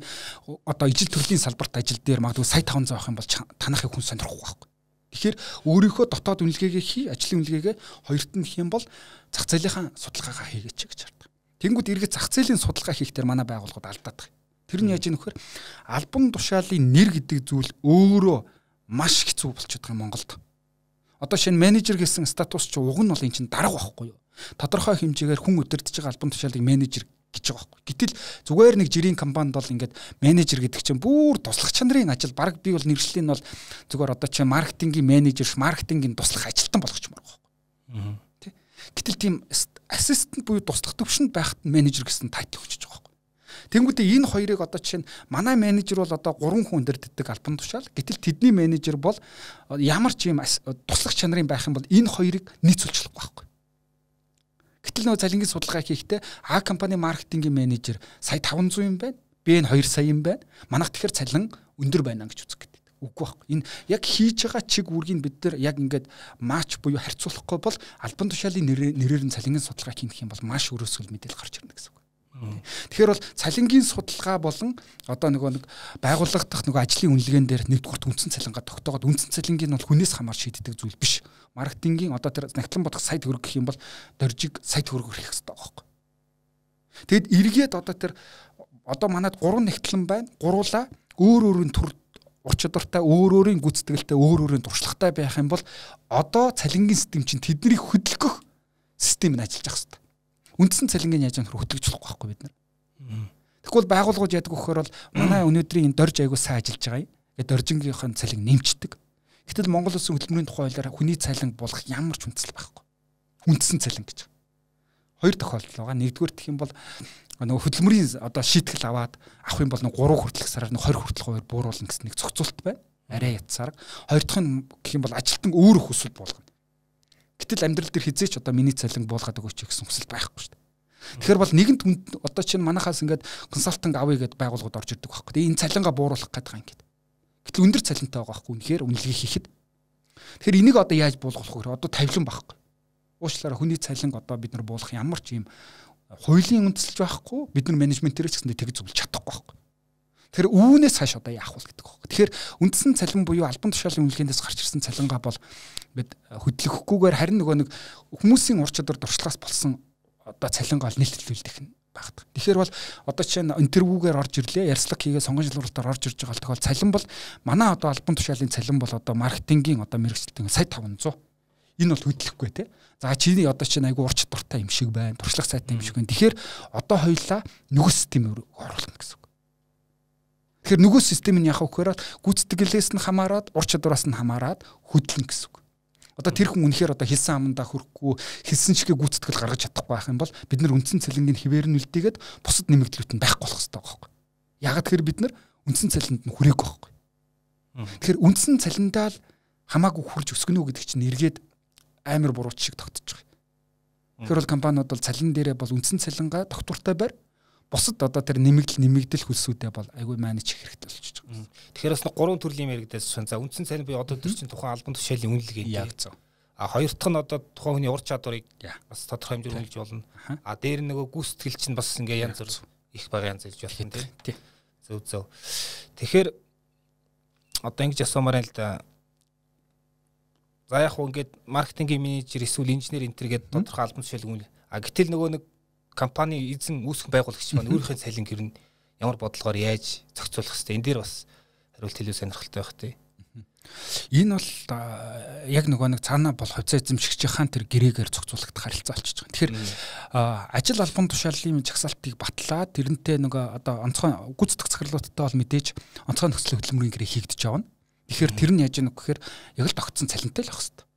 одоо ижил төрлийн салбарт ажил дээр магадгүй сая таван зуун авах юм бол танахыг хүн сонирхгүй байхгүй. Тэгэхээр өөрийнхөө дотоод үнэлгээгээ хий, ажлын үнэлгээгээ хоёрт нь хийх юм бол зах зээлийнхаа судалгаагаа хийгээч гэж хардаг. Тэнгүүд эргээд зах зээлийн судалгаа хийхдээ манай байгууллагууд алдаад байгаа. Тэр нь яаж ийм нөхөр албан тушаалын нэр гэдэг зүйл өөрөө маш хэцүү болчиход байгаа Монголд. Одоо шинэ менежер гэсэн статус чи уг нь бол эн чинь дарга байхгүй юу? Тодорхой хэмжээгээр хүн удирдах байгаа албан тушаалыг менежер гэж байгаа байхгүй. Гэтэл зүгээр нэг жирийн компанид бол ингээд менежер гэдэг чинь бүр туслах чанарын ажил. Бараг би бол нэршлэл нь бол зүгээр одоо чи маркетингийн менежер, маркетингийн туслах ажилтан болгочмоор байгаа байхгүй. Тэ. Гэтэл тийм ассистент буюу туслах төвшөнд байхад менежер гэсэн тайтл өгч байгаа байхгүй. Тэнгүүдээ энэ хоёрыг одоо чинь манай менежер бол одоо гурван хүн өндөрддөг албан тушаал. Гэтэл тэдний менежер бол ямар ч юм туслах чанарын байх юм бол энэ хоёрыг нийцүүлж болохгүй байхгүй. Гэтэл нөгөө цалингийн судалгаа хийхдээ А компани маркетингийн менежер сая таван зуун юм байна. Б нь хоёр сая юм байна. Манайх тэгэхээр цалин өндөр байна гэж үзэх гэдэг. Үгүй байхгүй. Энэ яг хийж байгаа чиг үүргийг бид нар яг ингээд матч буюу харьцуулахгүй бол албан тушаалын нэрээр нь цалингийн судалгаа хийх юм бол маш өрөөсгөл мэдээлэл гарч ирнэ гэсэн үг. Тэгэхээр бол цалингийн судалгаа болон одоо нөгөө нэг байгууллага дахь нөгөө ажлын үнэлгээнд дээр нэгдүгээр үндсэн цалингаа тогтоогоод үндсэн цалингийн бол хүнээс хамаар шийддэг зүйл биш. Маркетингийн одоо тэр нягтлан бодох сая төгрөг гэх юм бол доржиг сая төгрөгөөр хийх хэрэгтэй байгаа байхгүй. Тэгэд эргээд одоо тэр одоо манад гурван нягтлан байна. Гуруула өөр өөрийн төр ур чадвартай, өөр өөрийн гүйцэтгэлтэй, өөр өөрийн туршлагатай байх юм бол одоо цалингийн систем чинь тэднийг хөдөлгөх систем нь ажиллаж ах хэрэгтэй. Үндсэн цалингийн яаж нөхөр хөтлөж болохгүй байхгүй бид нар. Тэгвэл байгууллагууд яадаг вөхөр бол манай өнөөдрийн энэ дорж аягүй сайн ажиллаж байгаа юм. Тэгээд доржингийнхын цалин нэмчдэг. Гэтэл Монгол Улсын хөдөлмөрийн тухай хуулиар хүний цалин болох ямар ч үндэслэл байхгүй. Үндсэн цалин гэж. Хоёр тохиолдол байгаа. Нэгдүгээр гэх юм бол нөгөө хөдөлмөрийн одоо шийтгэл аваад авах юм бол нөгөө гурав хүртэлх сараар нөгөө хоёр хүртэлх хоёр бууруулна гэсэн нэг зохицуулт байна. Арай ятсаар. Хоёр дахь нь гэх юм бол ажилтан өөрөө хүсвэл болгоно. Гэтэл амьдрал дээр хизээч одоо миний цалин буулгаад өгөөч гэсэн хүсэл байхгүй шүү дээ. Тэгэхээр бол нэгэнт одоо чинь манахаас ингээд консалтинг авъя гэдээ байгууллагууд орж ирдэг байхгүй. Тэгээ энэ цалингаа бууруулах гэдэг юм ингээд. Гэтэл өндөр цалинтай байгаа байхгүй. Үнэхээр үнэлгээ хийхэд. Тэгэхээр энийг одоо яаж буулгах вэ? Одоо тавилан байхгүй. Уучлаарай хүний цалин одоо бид нар буулгах ямар ч юм хуулийн үндэслэж байхгүй. Бид нар менежментээр ч гэсэндээ тэгж зөвлөж чадахгүй байхгүй. Тэгэхээр үүнээс хойш одоо яах вэ гэдэг байна. Тэгэхээр үндсэн цалин буюу албан тушаалын үнэлгээндээс гарч ирсэн цалингаа бол бид хөдлөхгүйгээр харин нөгөө нэг хүмүүсийн ур чадвар дуршлагаас болсон одоо цалингаа нэлтэлүүлдэх нь багт. Тэгэхээр бол одоо чинь интервьюгээр орж ирлээ, ярьцлага хийгээ сонгон шалгуулалтаар орж ирж байгаа тохиол цалин бол манай одоо албан тушаалын цалин бол одоо маркетингийн одоо мэргэжилтийн сая таван зуун. Энэ бол хөдлөхгүй те. За чиний одоо чинь айгу ур чадвартай юм шиг байна, туршлага сайтай юм шиг байна. Тэгэхээр одоо хоёулаа нөгөө систем рүү оруулах гэсэн. Тэгэхээр нөгөө систем нь яхах вөхөр гүйцэтгэлээс нь хамаарат, ур чадвараас нь хамаарат хөдлөн гэсэн үг. Одоо тэр хүн үнэхээр одоо хэлсэн амандаа хүрэхгүй, хэлсэн чигээ гүйцэтгэл гаргаж чадахгүй байх юм бол бид нар үндсэн цалингийн хിവэр нь үлдээгээд бусад нэмэгдлүүд нь байхгүй болох хэрэгтэй байхгүй. Яг тэгэхээр бид нар үндсэн цалинд нь хүрээгүй байхгүй. Тэгэхээр үндсэн цалиндаа л хамаагүй хурж өсгөнө үү гэдэг чинь эргээд амар бурууч шиг тогтож байгаа. Тэгэхээр бол компаниуд бол цалин дээрээ бол үндсэн цалингаа тогтвортой байр. Бусад одоо тэр нэмэгдэл нэмэгдэл хөлсүүдээ бол айгүй менеж хийх хэрэгтэй болчихж байгаа. Тэгэхээр бас гурван төрлийн яригдсан. За үндсэн цалин буюу одоо тэр чинь тухайн албан тушаалын үнэлгээ яг зөв. А хоёр дахь нь одоо тухайн хүний ур чадварыг бас тодорхой хэмжээгээр үнэлж болно. А дээр нөгөө гүйцэтгэл чинь бас ингээ янз бүр их бага янз илж болох юм тийм. Зөв зөв. Тэгэхээр одоо ингэж асуумаар л да. За яг хөө ингээд маркетингийн менежер эсвэл инженер энтер гэдэг тодорхой албан тушаалын үнэлгээ. А гэтэл нөгөө нэг компани эзэн үүсгэн байгуулагч маань өөрийнхөө цалин гэрн ямар бодлогоор яаж зохицуулах хэвтэй энэ дээр бас хариулт илүү сонирхолтой байх тий. Энэ бол яг нөгөө нэг цаанаа бол хувьцаа эзэмшигч хаан тэр гэрээгээр зохицуулагдах харилцаа болчихж байгаа. Тэгэхээр ажил албан тушаалын жагсаалтыг батлаад тэрнтэй нөгөө одоо онцгой гүйцэтгэх захирлуудтай бол мэдээж онцгой нөхцөл хөдөлмөрийн гэрээ хийгдэж авна. Тэгэхээр тэр нь яаж яах вэ гэхээр яг л тогтсон цалинтай л байх хэвээр.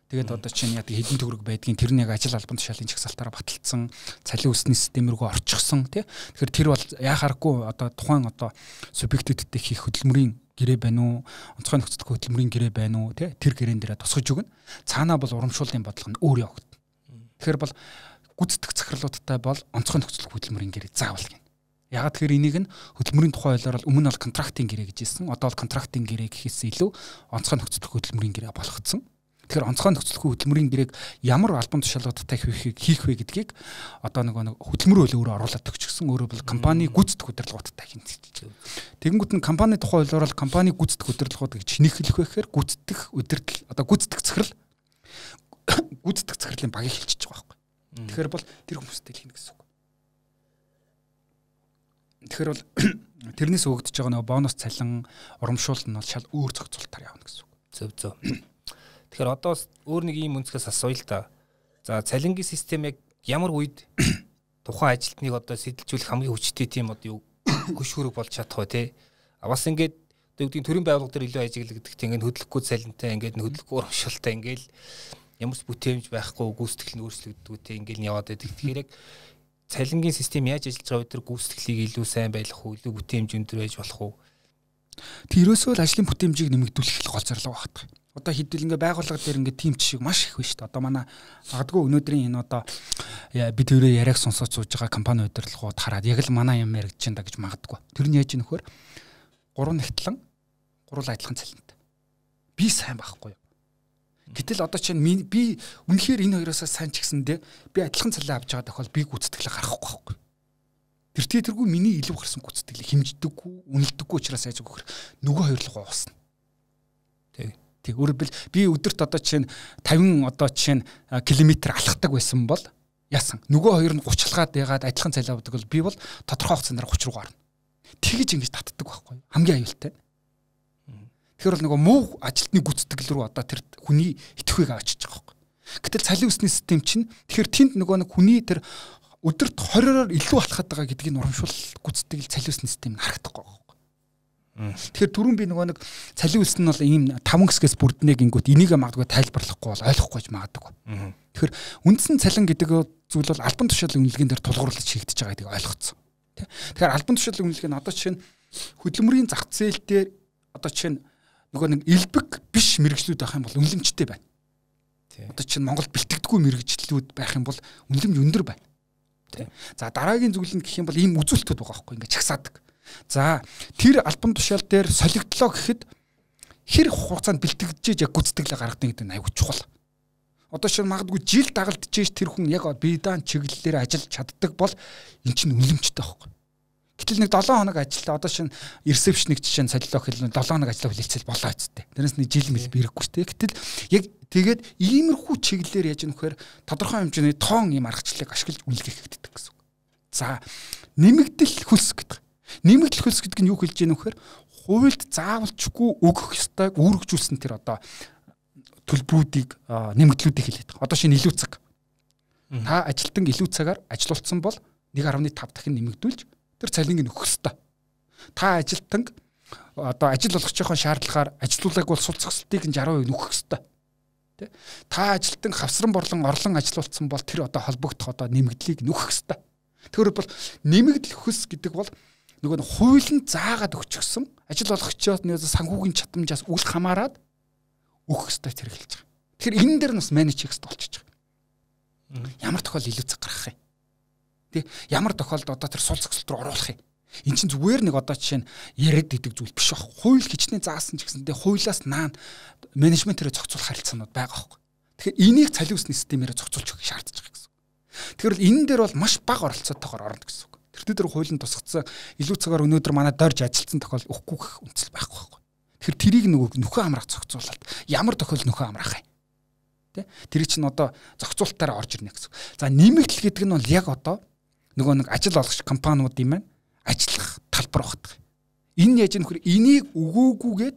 Тэгээд одоо чинь яг хэдэн төгрөг байдгийн тэр нь яг ажил албан тушаалын жагсаалтаараа баталсан, цалин үсний систем рүү орчихсон тий. Тэгэхээр тэр бол яхааргүй одоо тухайн одоо субъектүүдтэй хийх хөдөлмөрийн гэрээ байна уу, онцгой нөхцөл хөдөлмөрийн гэрээ байна уу тий. Тэр гэрээн дээрээ тусгаж өгнө. Цаанаа бол урамшууллын бодлого нь өөр явагдана. Тэгэхээр бол гүйцэтгэх захирлуудтай бол онцгой нөхцөл хөдөлмөрийн гэрээ заавал гин. Ягаад тэгэхээр энийг нь хөдөлмөрийн тухай хуулиар бол өмнө нь бол контрактын гэрээ гэж хэлсэн. Одоо бол контрактын гэрээ гэхээс илүү онцгой нөхцөл хөдөлмөрийн гэрээ болгоцсон. Тэгэхээр онцгой нөхцөл хөдөлмөрийн гэрээг ямар албан тушаалуудтай хийх вэ гэдгийг одоо нэг хөдөлмөр хууль өөрөө оруулаад өгчихсөн. Өөрөө бол компани гүйцэтгэх удирдлагуудтай хийнэ. Тэгэнгүүт нь компани тухай хуулиар бол компани гүйцэтгэх удирдлагууд гэж нэхлэх байхээр гүйцэтгэх удирдал одоо гүйцэтгэх захирал гүйцэтгэх захирлын багийг хэлчихэж байгаа байхгүй. Тэгэхээр бол тэр хүмүүстэй л хийнэ гэсэн үг. Тэгэхээр бол тэрнээс өгөгдөж байгаа нэг бонус цалин урамшуул нь бол шал өөр зохицуултаар явна гэсэн үг. Зөв зөв. Тэгэхээр одоо өөр нэг юм үнцгээс асууя л да. За цалингийн систем яг ямар үед тухайн ажилтныг одоо сэтэлжүүлэх хамгийн хүчтэй тийм одоо юу хөш хөрөг болж чадах вэ те. А бас ингээд одоо юу гэдгийг төрийн байгууллага дээр илүү ажиглагддаг тийм ингээд хөдөлгөхгүй цалинтай ингээд хөдөлгөхгүй урамшуултай ингээд ямар ч бүтээмж байхгүй гүйцэтгэл нь өөрчлөгддөг тийм ингээд яваад байдаг. Тэгэхээр яг цалингийн систем яаж ажиллаж байгаа вэ тэр гүйцэтгэлийг илүү сайн байлгах уу, илүү бүтээмж өндөр байж болох уу? Тэрөөсөө л ажлын бүтээмжийг нэмэгдүүлэх гол зорилго багтдаг. Одоо хэдүүл ингээ байгууллага дээр ингээ тим жишээ маш их байна шүү дээ. Одоо манай магадгүй өнөөдрийн энэ одоо бид өөрөө яриаг сонсож сууж байгаа компани удирдлагууд хараад яг л манай юм яригдж байна да гэж магадгүй. Тэр нь яаж юм нөхөр гурван нэгтлэн гурван адилхан цалинтай. Би сайн байхгүй юу? Гэтэл одоо чинь би үнэхээр энэ хоёроос сайн ч гэсэндээ би адилхан цалин авч байгаа тохиол би гүйцэтгэлээ гаргахгүй байхгүй. Тэр тийтэргүй миний илүү гарсан гүйцэтгэлийг хэмждэггүй, үнэлдэггүй учраас яаж өгөх нөгөө хоёр л гоосна. Тэг. Тэг. Өөрөөр би өдөрт одоо чинь тавин одоо чинь километр алхдаг байсан бол яасан. Нөгөө хоёр нь гучлаад ягаад адилхан цалин авдаг бол би бол тодорхой хугацаанд гуч руу гарна. Тэгэж ингэж татдаг байхгүй. Хамгийн аюултай. Тэгэхээр бол нөгөө муу ажилтны гүйцэтгэл рүү одоо тэр хүний итгэхүйг авчиж байгаа байхгүй. Гэтэл цалин өсний систем чинь тэгэхээр тэнд нөгөө нэг хүний тэр өдөрт хороор илүү алхаад байгаа гэдгийг урамшуул гүйцэтгэл цалин өсний систем нь харагдахгүй байхгүй. Тэгэхээр түрүүн би нөгөө нэг цалин өс нь бол ийм таван хэсгээс бүрднэ гингүүт энийг магадгүй тайлбарлахгүй бол ойлгохгүй ч магадгүй. Тэгэхээр үндсэн цалин гэдэг зүйл бол албан тушаалын үнэлгээнд дээр тулгуурлаж хийгдэж байгаа гэдгийг ойлгоцсон. Тэгэхээр албан тушаалын үнэлгээ нь одоо чинь хөдөлмөрийн зах зээл дээр одоо чинь нөгөө нэг элбэг биш мэрэгжлүүд байх юм бол үнэлэмжтэй байна. Одоо чинь Монголд бэлтгэдэггүй мэрэгжлүүд байх юм бол үнэлэмж өндөр байна. За дараагийн зүйл нь гэх юм бол ийм үзүүлэлтүүд байгаа байхгүй ингээд чагсаадаг. За тэр албан тушаал дээр солигдлоо гэхэд хэр хугацаанд бэлтгэж яг гүйцэтгэлээ гаргадаг гэдэг нь аюул чухал. Одоо шинэ магадгүй жил дагалдчихэж тэр хүн яг биедан чиглэлээр ажиллаж чаддаг бол эн чинь үнэлэмжтэй байхгүй. Гэтэл нэг долоон хоног ажиллаа одоо шинэ ресепшник жишээ нь солилоо хэлнэ долоон хоног ажиллаа хүлээлцэл болоо хэвчтэй. Тэрнээс нэг жил мэл бирэхгүй шүү дээ. Гэтэл яг тэгээд иймэрхүү чиглэлээр яаж нөхөр тодорхой хэмжээний тоон ийм аргачлалыг ашиглаж үнэлгээ хийгддэг гэсэн. За нэмэгдэл хөлс гэдэг. Нэмэгдэл хөлс гэдэг нь юу хэлж яах нөхөр хуульд заавалчгүй өгөх ёстойг үүргэжүүлсэн тэр одоо төлбөрүүдийг нэмэгдлүүдийг хэлээд байгаа. Одоо шинэ илүү цаг. Та ажилтан илүү цагаар ажилуулсан бол нэг гаруй тавь дахин нэмэгдүүлж тэр цалинг нь өгөх ёстой. Та ажилтан одоо ажил болгож байгаа шаардлагаар ажилуулгааг бол сул зохицолтыг нь сixty percent нөхөх ёстой. Тэ? Та ажилтан хавсран борлон орлон ажилуулсан бол тэр одоо холбогдох одоо нэмэгдлийг нөхөх ёстой. Тэгэхээр бол нэмэгдэл хөс гэдэг бол нөгөө хуулийн заагаад өгчихсөн ажил болгогчдод нэг санхүүгийн чадамжаас үл хамааран өгөх ёстой хэрэгжилж байгаа. Тэгэхээр энэ дээр нас менеж хийх ёстой болчихж байгаа. Ямар тохиол илүү цаг гаргах юм? Тэ? Ямар тохиолдолд одоо тэр сул зохицолт руу оруулах юм? Энд чинь зүгээр нэг одоо жишээ нь яриад идэг зүйл биш баг. Хууль хичнээн заасан ч гэсэндээ хуулиас наан менежментээрээ зохицуулах харилцаанууд байгаа байхгүй. Тэгэхээр энийг цалин өсний системээр зохицуулж өгөх шаардж байгаа гэсэн. Тэгэхээр энэ дээр бол маш бага оролцоотойгоор орно гэсэн үг. Тэр дээр хуулийн тусгацсан илүү цагаар өнөөдөр манай дорж ажилтсан тохиол өгөхгүй гэх үндэслэл байхгүй байхгүй. Тэгэхээр тэрийг нөгөө нөхөн амраах зохицуулалт ямар тохиол нөхөн амраах юм. Тэ? Тэр чинь одоо зохицуулалтаараа орж ирнэ гэсэн. За нэмэгдэл гэдэг нь бол яг одоо нөгөө нэг ажил олгогч компаниуд юм байна. Ажиллах талбар багтдаг. Энэ яаж нөхөр энийг өгөөгүйгээд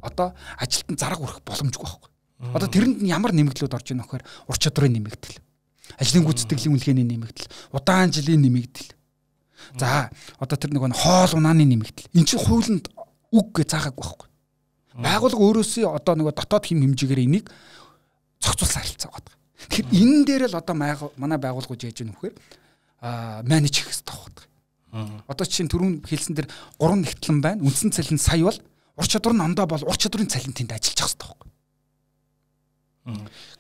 одоо ажилтан зарга өрөх боломжгүй байхгүй. Одоо тэрэнд нь ямар нэмэгдлүүд орж ийнө нөхөр ур чадрын нэмэгдэл. Ажлын гүйцэтгэлийн үнэлгээний нэмэгдэл, удаан жилийн нэмэгдэл. За одоо тэр нэг хоол унааны нэмэгдэл. Энд чинь хуулинд үг гэж заагаагүй байхгүй. Байгууллага өөрөөсөө одоо нэг дотоод хэм хэмжээгээр энийг зохицуулсан харилцаа байгаа. Тэгэхээр энэ дээр л одоо манай байгууллагууд яаж ийнө нөхөр а менеж хийх хэрэгтэй байхгүй. Одоо чинь түрүүн хэлсэн дээр гурван нэгтлэн байна. Үндсэн цалин сая бол ур чадвар нь ондоо бол ур чадварын цалин тэнд ажиллаж байгаа хэрэгтэй байхгүй.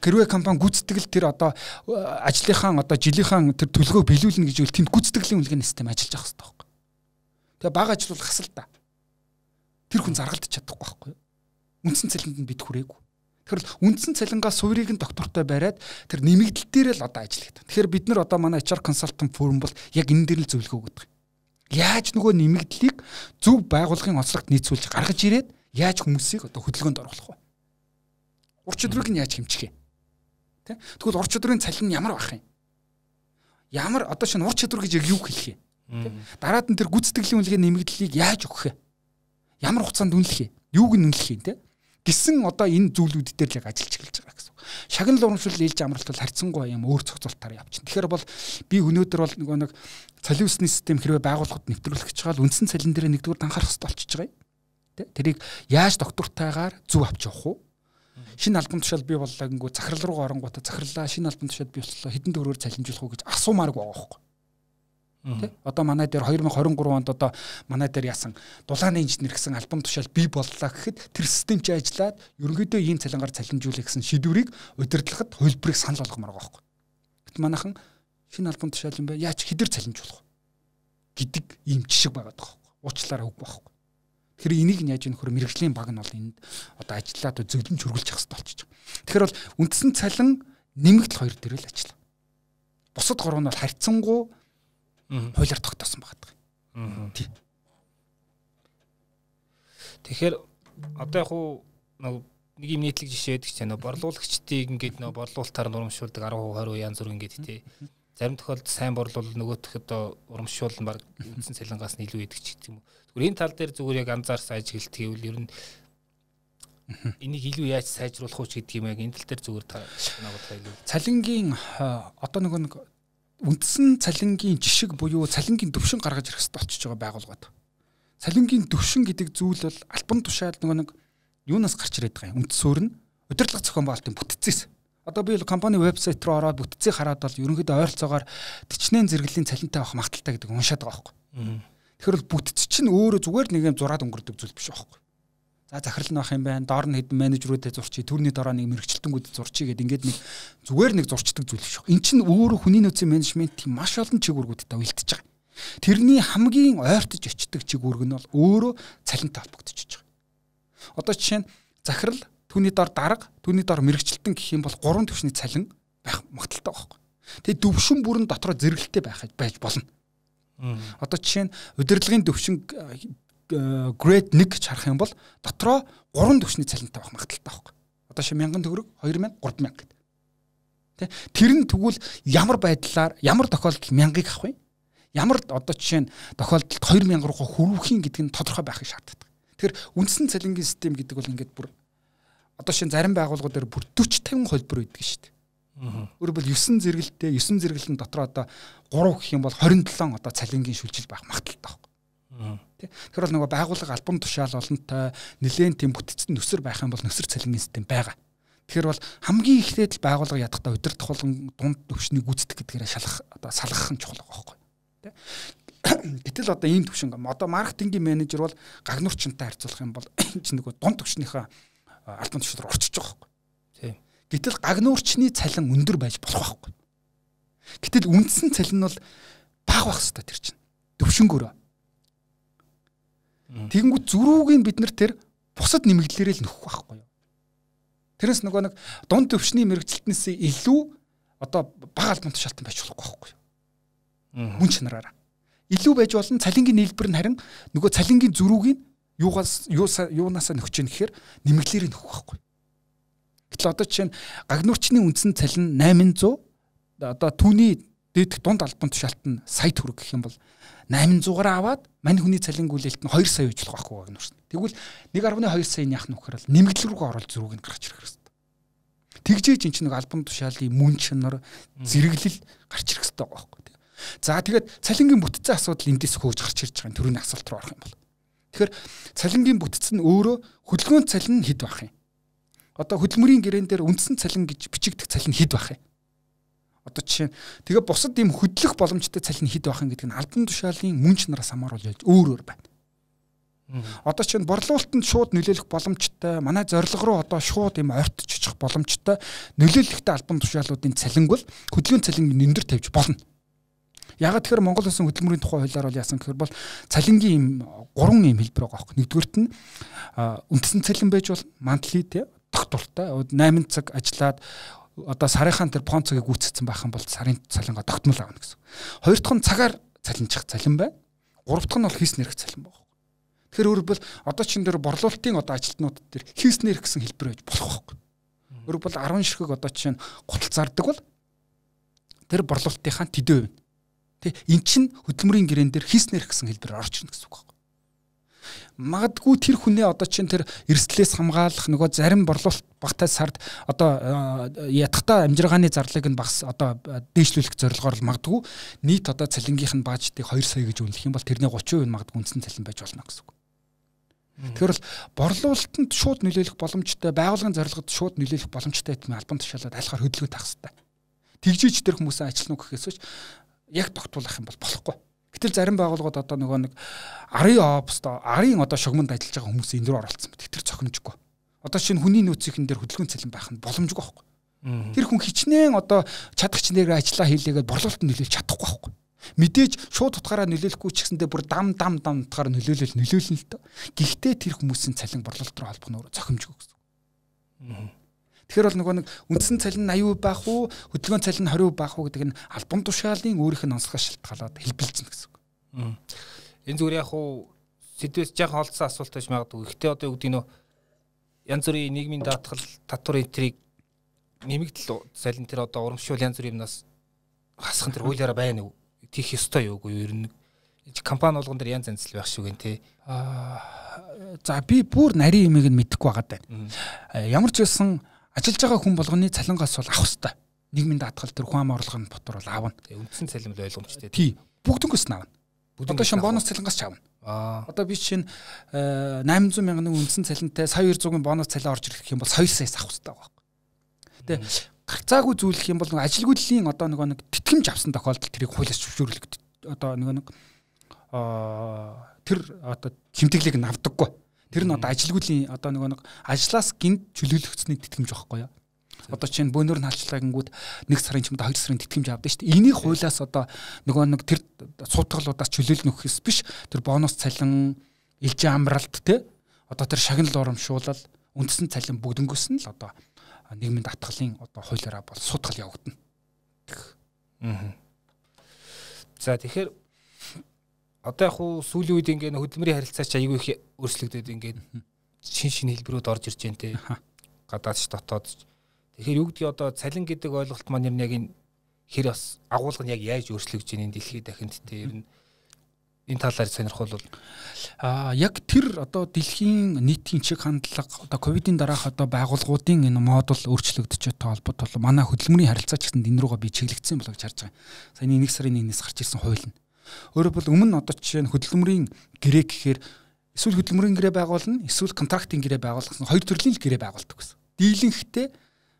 Хэрвээ компани гүйцэтгэл тэр одоо ажлынхаа одоо жилийнхаа тэр төлгөө биелүүлнэ гэж үл тэнд гүйцэтгэлийн үнэлгээний систем ажиллаж байгаа хэрэгтэй байхгүй. Тэгээ бага ажил бол хасал та. Тэр хүн заргалдаж чадахгүй байхгүй. Үндсэн цалинд нь бид хүрээгүй. Тэгэхээр үндсэн цалингаас суурийг нь доктортой бариад тэр нэмэгдэл дээр л одоо ажилладаг. Тэгэхээр бид нар одоо манай эйч ар консалтинг форум бол яг энэ дээр л зөвлөгөө өгдөг. Яаж нөгөө нэмэгдлийг зөв байгууллагын онцлогт нийцүүлж гаргаж ирээд яаж хүмүүсийг одоо хөдөлгөөнд оруулах вэ? Ур чадварыг нь яаж хэмжих юм? Тэ? Тэгвэл ур чадварын цалин нь ямар байх юм? Ямар одоо шинэ ур чадвар гэж юу хэлэх юм? Дараад нь тэр гүйцэтгэлийн үнэлгээ нэмэгдлийг яаж өгөх юм? Ямар хугацаанд үнэлэх юм? Юуг нь үнэлэх юм те? Гисэн одоо энэ зүйлүүд дээр л яг ажиллаж эхэлж байгаа гэсэн. Шагнал урамшил ээлж амралт бол харьцангуй юм өөр цогцолтоор явчихна. Тэгэхээр бол би өнөөдөр бол нөгөө нэг цалин усны систем хэрвээ байгууллагад нэвтрүүлэх гэж байгаа л үндсэн цалин дээр нэгдүгээр анхаарах хэрэгтэй болчихж байгаа юм. Тэ? Тэрийг яаж доктортойгоор зөв авч явах вэ? Шинэ албан тушаал бий боллоо гингүү захирал руу оронгуудаа захирлаа шинэ албан тушаал бий боллоо хэдэн төгрөгөөр цалинжуулах уу гэж асуумааргүй байгаа байхгүй. Тэ? Одоо манай дээр две тысячи двадцать три онд одоо манай дээр яасан дулааны инженер гэсэн албан тушаал бий боллоо гэхэд тэр систем чи ажиллаад ерөнхийдөө ийм цалингаар цалинжуулах гэсэн шийдвэрийг удирдлагад хөлбөрийг санал болгомоор байгаа байхгүй. Гэт манайхан шинэ албан тушаал юм бай яаж хэдэр цалинжуулах гэдэг ийм жишг байгаад байгаа байхгүй. Уучлаарай үгүй байхгүй. Тэгэхээр энийг нь яаж юм нөхөр мэрэгжлийн баг нь бол энд одоо ажиллаад зөвлөмж хөргөлж явах хэрэгтэй болчих. Тэгэхээр бол үндсэн цалин нэмэгдэл хоёр дээр л ажиллаа. Бусад гурав нь бол харьцангуй хуулиар тогтоосон байгаа юм. Тий. Тэгэхээр одоо яг уу нэг юм нийтлэг жишээ байдаг ч нөө борлуулагчдыг ингээд нөө борлуулалтаар урамшуулдаг ten twenty янз бүр ингээд тий. Зарим тохиолдолд сайн борлуул нөгөөх одоо урамшуулна баг үндсэн цалингаас нь илүү идэг ч гэдэг юм уу. Зүгээр энэ тал дээр зүгээр яг анзаарсан ажиглалт гэвэл ер нь энийг илүү яаж сайжруулах уу ч гэдэг юм яг энэ тал дээр зүгээр та надад хэлээ. Цалингийн одоо нөгөө нэг үндсэн цалингийн жишг буюу цалингийн төвшин гаргаж ирэх хэрэгтэй болчихж байгаа байгууллагууд. Цалингийн төвшин гэдэг зүйл бол албан тушаал нөгөө нэг юунаас гарч ирээд байгаа юм. Үндсөөр нь удирдлага зохион байгуулалтын бүтцээс. Одоо би компани вебсайт руу ороод бүтцийг хараад бол ерөнхийдөө ойролцоогоор төчнэн зэрэглэлийн цалинтай авах магадaltaй гэдэг уншаад байгаа байхгүй. Тэгэхээр бол бүтц чинь өөрөө зүгээр нэг юм зураад өнгөрдөг зүйл биш байхгүй. За захирал нь байх юм байна. Доор нь хэдэн менежерүүдэд зурчий, төрний дараа нэг мэрэгчлэлтэнгүүд зурчий гэдэг ингээд нэг зүгээр нэг зурчдаг зүйл биш. Энэ чинь өөрөө хүний нөөцийн менежментийн маш олон чиглэлүүдтэй уялдаж байгаа. Тэрний хамгийн ойртож очдог чиглэл нь бол өөрөө цалинтай холбогдчихж байгаа. Одоо жишээ нь захирал, түүний доор дарга, түүний доор мэрэгчлэлтэн гэх юм бол гурван түвшний цалин байх магадaltaй байхгүй. Тэгээ төвшин бүрэн дотроо зэрэгэлтэй байх байж болно. Одоо жишээ нь удирдлагын төвшин грейд one гэж харах юм бол дотроо гурван төвшний цалинтай байх магадaltaй байхгүй. Одоо ши мянган төгрөг, two мянга, three мянга гэдэг. Тэ? Тэр нь тэгвэл ямар байдлаар, ямар тохиолдолд мянгаыг авах вэ? Ямар одоо жишээ нь тохиолдолд two мянга руугаа хүрвхийн гэдэг нь тодорхой байхыг шаарддаг. Тэгэхээр үндсэн цалингийн систем гэдэг бол ингээд бүр одоо шин зарим байгууллагууд дээр бүр forty fifty холбор байдаг шүү дээ. Өөрөөр хэлбэл nine зэрэгэлтэй nine зэрэгэлтэн дотор одоо three гэх юм бол twenty-seven одоо цалингийн шүлжил байх магадaltaй байхгүй. Тэгэхээр бол нөгөө байгууллага албан тушаал олонтой нэлээд тийм бүтцэд нөсөр байх юм бол нөсөр цалингийн систем байгаа. Тэгэхээр бол хамгийн ихтэй л байгууллага ядахтаа удирдах болон дунд төвшнийг гүйцэтгэх гэдгээрээ шалах одоо салгах нь чухал байгаа байхгүй. Гэтэл одоо ийм төвшин одоо маркетингийн менежер бол гагнуурчтай харьцуулах юм бол чи нөгөө дунд төвшнийхээ албан тушаал руу орчиж байгаа байхгүй. Тийм. Гэтэл гагнуурчны цалин өндөр байж болох байхгүй. Гэтэл үндсэн цалин нь бол бага байх хэрэгтэй тэр чинь. Төвшингөөрөө. Тэгэнгүүт зөрүүгийн бид нар тэр бусад нэмэгдлэрээ л нөхөх байхгүй юу. Тэрнээс нөгөө нэг дунд төвшний мэрэгчлэлтнээс илүү одоо бага албан тушаалтан байж болохгүй байхгүй юу. Мөн чанараараа. Илүү байж болно цалингийн нийлбэр нь харин нөгөө цалингийн зөрүүгийн юугаас юунаасаа нөхөж ийн гэхээр нэмэгдлэрээ нөхөх байхгүй. Гэтэл одоо жишээ нь гагнуурчны үндсэн цалин eight hundred одоо түүний дээдх дунд албан тушаалт нь сая төгрөг гэх юм бол eight hundred-аар аваад мань хүний цалин гүйлэлт нь two сая байж болох байхгүй гагнуурч. Тэгвэл one point two саяны яах нөхөр л нэмэгдэл рүүгээ оруулж зөрүүг нь гаргаж ирэх хэрэгтэй. Тэгжээж эн чинь нэг албан тушаалын мөн чанар зэрэглэл гарч ирэх хэрэгтэй байгаа байхгүй. За тэгээд цалингийн бүтцийн асуудал эндээс хөөж гарч ирж байгаа төрөний асуулт руу орох юм бол. Тэгэхээр цалингийн бүтц нь өөрөө хөдөлгөөн цалин хэд байх юм? Одоо хөдөлмөрийн гэрээн дээр үндсэн цалин гэж бичигдэх цалин хэд байх юм? Одоо жишээ нь тэгээ бусад ийм хөдлөх боломжтой цалин хэд байх юм гэдэг нь албан тушаалын мөн чанараас хамааруулж өөр өөр байна. Одоо чинь борлуулалтанд шууд нөлөөлөх боломжтой, манай зорилго руу одоо шууд юм ойртож очих боломжтой нөлөөлөлттэй албан тушаалуудын цалинг бол хөдөлгөөний цалинг нэмэр тавьж болно. Ягаад тэгэхээр Монгол Улсын хөдөлмөрийн тухай хуулиар бол яасан гэхээр бол цалингийн юм гурван юм хэлбэр байгаа байхгүй. Нэгдүгürt нь үндэсний цалин байж болно, монthly те тогтвортой восемь цаг ажиллаад одоо сарынхаа тэр фон цагийг гүйцэтгэсэн байх юм бол сарын цалингаа тогтмол авна гэсэн. Хоёр дахь нь цагаар цалинжих цалин байна. Гурав дахь нь бол хийс нэрх цалин байна. Тэгэхээр өөрөөр бол одоо чин дээр борлуулалтын одоо ажилтнууд дээр хийс нэрх гэсэн хэлбэр байж болох байхгүй. Өөрөөр бол арван ширхэг одоо чинь гутал зардаг бол тэр борлуулалтынхаа төдөө байна. Тэ эн чин хөдөлмөрийн гэрэн дээр хийс нэрх гэсэн хэлбэрээр орж ирнэ гэсэн үг байна. Магадгүй тэр хүнээ одоо чинь тэр эрсдлээс хамгаалах нөгөө зарим борлуулалт багтаа сард одоо ядахтаа амжиргааны зарлыг нь багс одоо дээшлүүлэх зорилгоор л магадгүй нийт одоо цалингийнх нь баажтыг хоёр сая гэж үнэлэх юм бол тэрний гучин хувь магадгүй үндсэн цалин байж болно гэсэн үг. Тэгэхээр бол борлуулалтанд шууд нөлөөлөх боломжтой, байгууллагын зорилгод шууд нөлөөлөх боломжтой гэдэг нь албан тушаалаад айлхаар хөдөлгөөн таах хэрэгтэй. Тэгжиж тэр хүмүүсээ ажилтнуу гэхээсэж яг тогтуулах юм бол болохгүй. Гэтэл зарим байгууллагууд одоо нөгөө нэг арын оопст арын одоо шугамд ажиллаж байгаа хүмүүс энэ рүү оролцсон мэт тэр цохимжгүй. Одоо шинэ хүний нөөцийн дээр хөдөлгөөн цалин байх нь боломжгүй байхгүй. Тэр хүн хичнээн одоо чадахч нэрээр ажиллаа хийлээгээд борлуулалтанд нөлөөлж чадахгүй байхгүй. Мэдээж шууд утгаараа нөлөөлөхгүй ч гэсэндээ бүр дам дам дам утгаараа нөлөөлөл нөлөөлнө л дөө. Гэхдээ тэр хүмүүсийн цалин борлуулалт руу холбох нь цохимжгүй гэсэн. Тэгэхээр бол нөгөө нэг үндсэн цалин eighty percent байх уу, хөдөлгөөн цалин twenty percent байх уу гэдэг нь албан тушаалын өөрийнх нь онцлогоос шалтгаалаад хэлбэлцэн гэсэн үг. Энэ зүгээр яг уу сэдвээс жаахан олдсон асуулт байж магадгүй. Гэхдээ одоо юу гэдэг нөө янз бүрийн нийгмийн даатгал, татвар энтрийг нэмэгдэл цалин тэр одоо урамшуул янз бүрийн юмнаас хасах тэр хуулиараа байна уу? Тийх ёстой юу үгүй ер нь компани болгон дээр янз янз л байх шүү гэн тий. Аа за би бүр нарийн юмыг нь мэдэхгүй байгаа даа. Ямар ч байсан ажиллаж байгаа хүн болгоны цалингаас бол авах хэрэгтэй. Нийгмийн даатгал тэр хүн ам орлогын ботор бол аавна. Үндсэн цалин бол ойлгомжтой. Тий. Бүгднгөөс нь аавна. Одоо шин бонус цалингаас ч аавна. Аа. Одоо би чинь eight hundred мянган үндсэн цалинтай сая two hundred бонус цалин орж ирэх юм бол two саяас авах хэрэгтэй байгаа. Тэ гарцаагүй зүйлэх юм бол ажилгүйдлийн одоо нөгөө нэг тэтгэмж авсан тохиолдолд тэрийг хуулиас зөвшөөрлөг одоо нөгөө нэг аа тэр одоо хэмтгэлийг нь авдаггүй. Тэр нь одоо ажилгүйдлийн одоо нөгөө нэг ажлаас гинт чөлөөлөгцсөний тэтгэмж байхгүй юу? Одоо чинь бөөнөр нь халчлагангууд нэг сарын ч юм уу хоёр сарын тэтгэмж авдаг шүү дээ. Энийг хуулиас одоо нөгөө нэг тэр суудгалуудаас чөлөөлнө гэхээс биш тэр бонус цалин, элжин амралт те одоо тэр шагнал урамшуулал, үндсэн цалин бүгднгөөс нь л одоо нийгмийн даатгалын одоо хуулиараа бол суудгал явагдана. Аа. За тэгэхээр одоо яг хуу сүүлийн үед ингээд хөдөлмөрийн харилцаа ч аягүй их өөрчлөгдөд ингээд шин шин хэлбэрүүд орж ирж байна те. Гадаадч дотоодч. Тэгэхээр юу гэдгийг одоо цалин гэдэг ойлголт маань яг энэ хэр бас агуулга нь яг яаж өөрчлөгдөж байна энэ дэлхийд дахинд те ер нь энэ талаар сонирхол бол аа яг тэр одоо дэлхийн нийтийн чиг хандлага одоо ковидын дараах одоо байгууллагуудын энэ модуль өөрчлөгдөж байгаа холбоотой манай хөдөлмөрийн харилцаа ч гэсэн энэ рүүгээ би чиглэгдсэн болов гэж харж байгаа. Саяны нэг сарын нэгнээс гарч ирсэн хууль нь. Өөрөөр бол өмнө одоо жишээ нь хөдөлмөрийн гэрээ гэхээр эсвэл хөдөлмөрийн гэрээ байгуулна, эсвэл контрактын гэрээ байгуулах гэсэн хоёр төрлийн л гэрээ байгуулдаг гэсэн. Дийлэнхтэй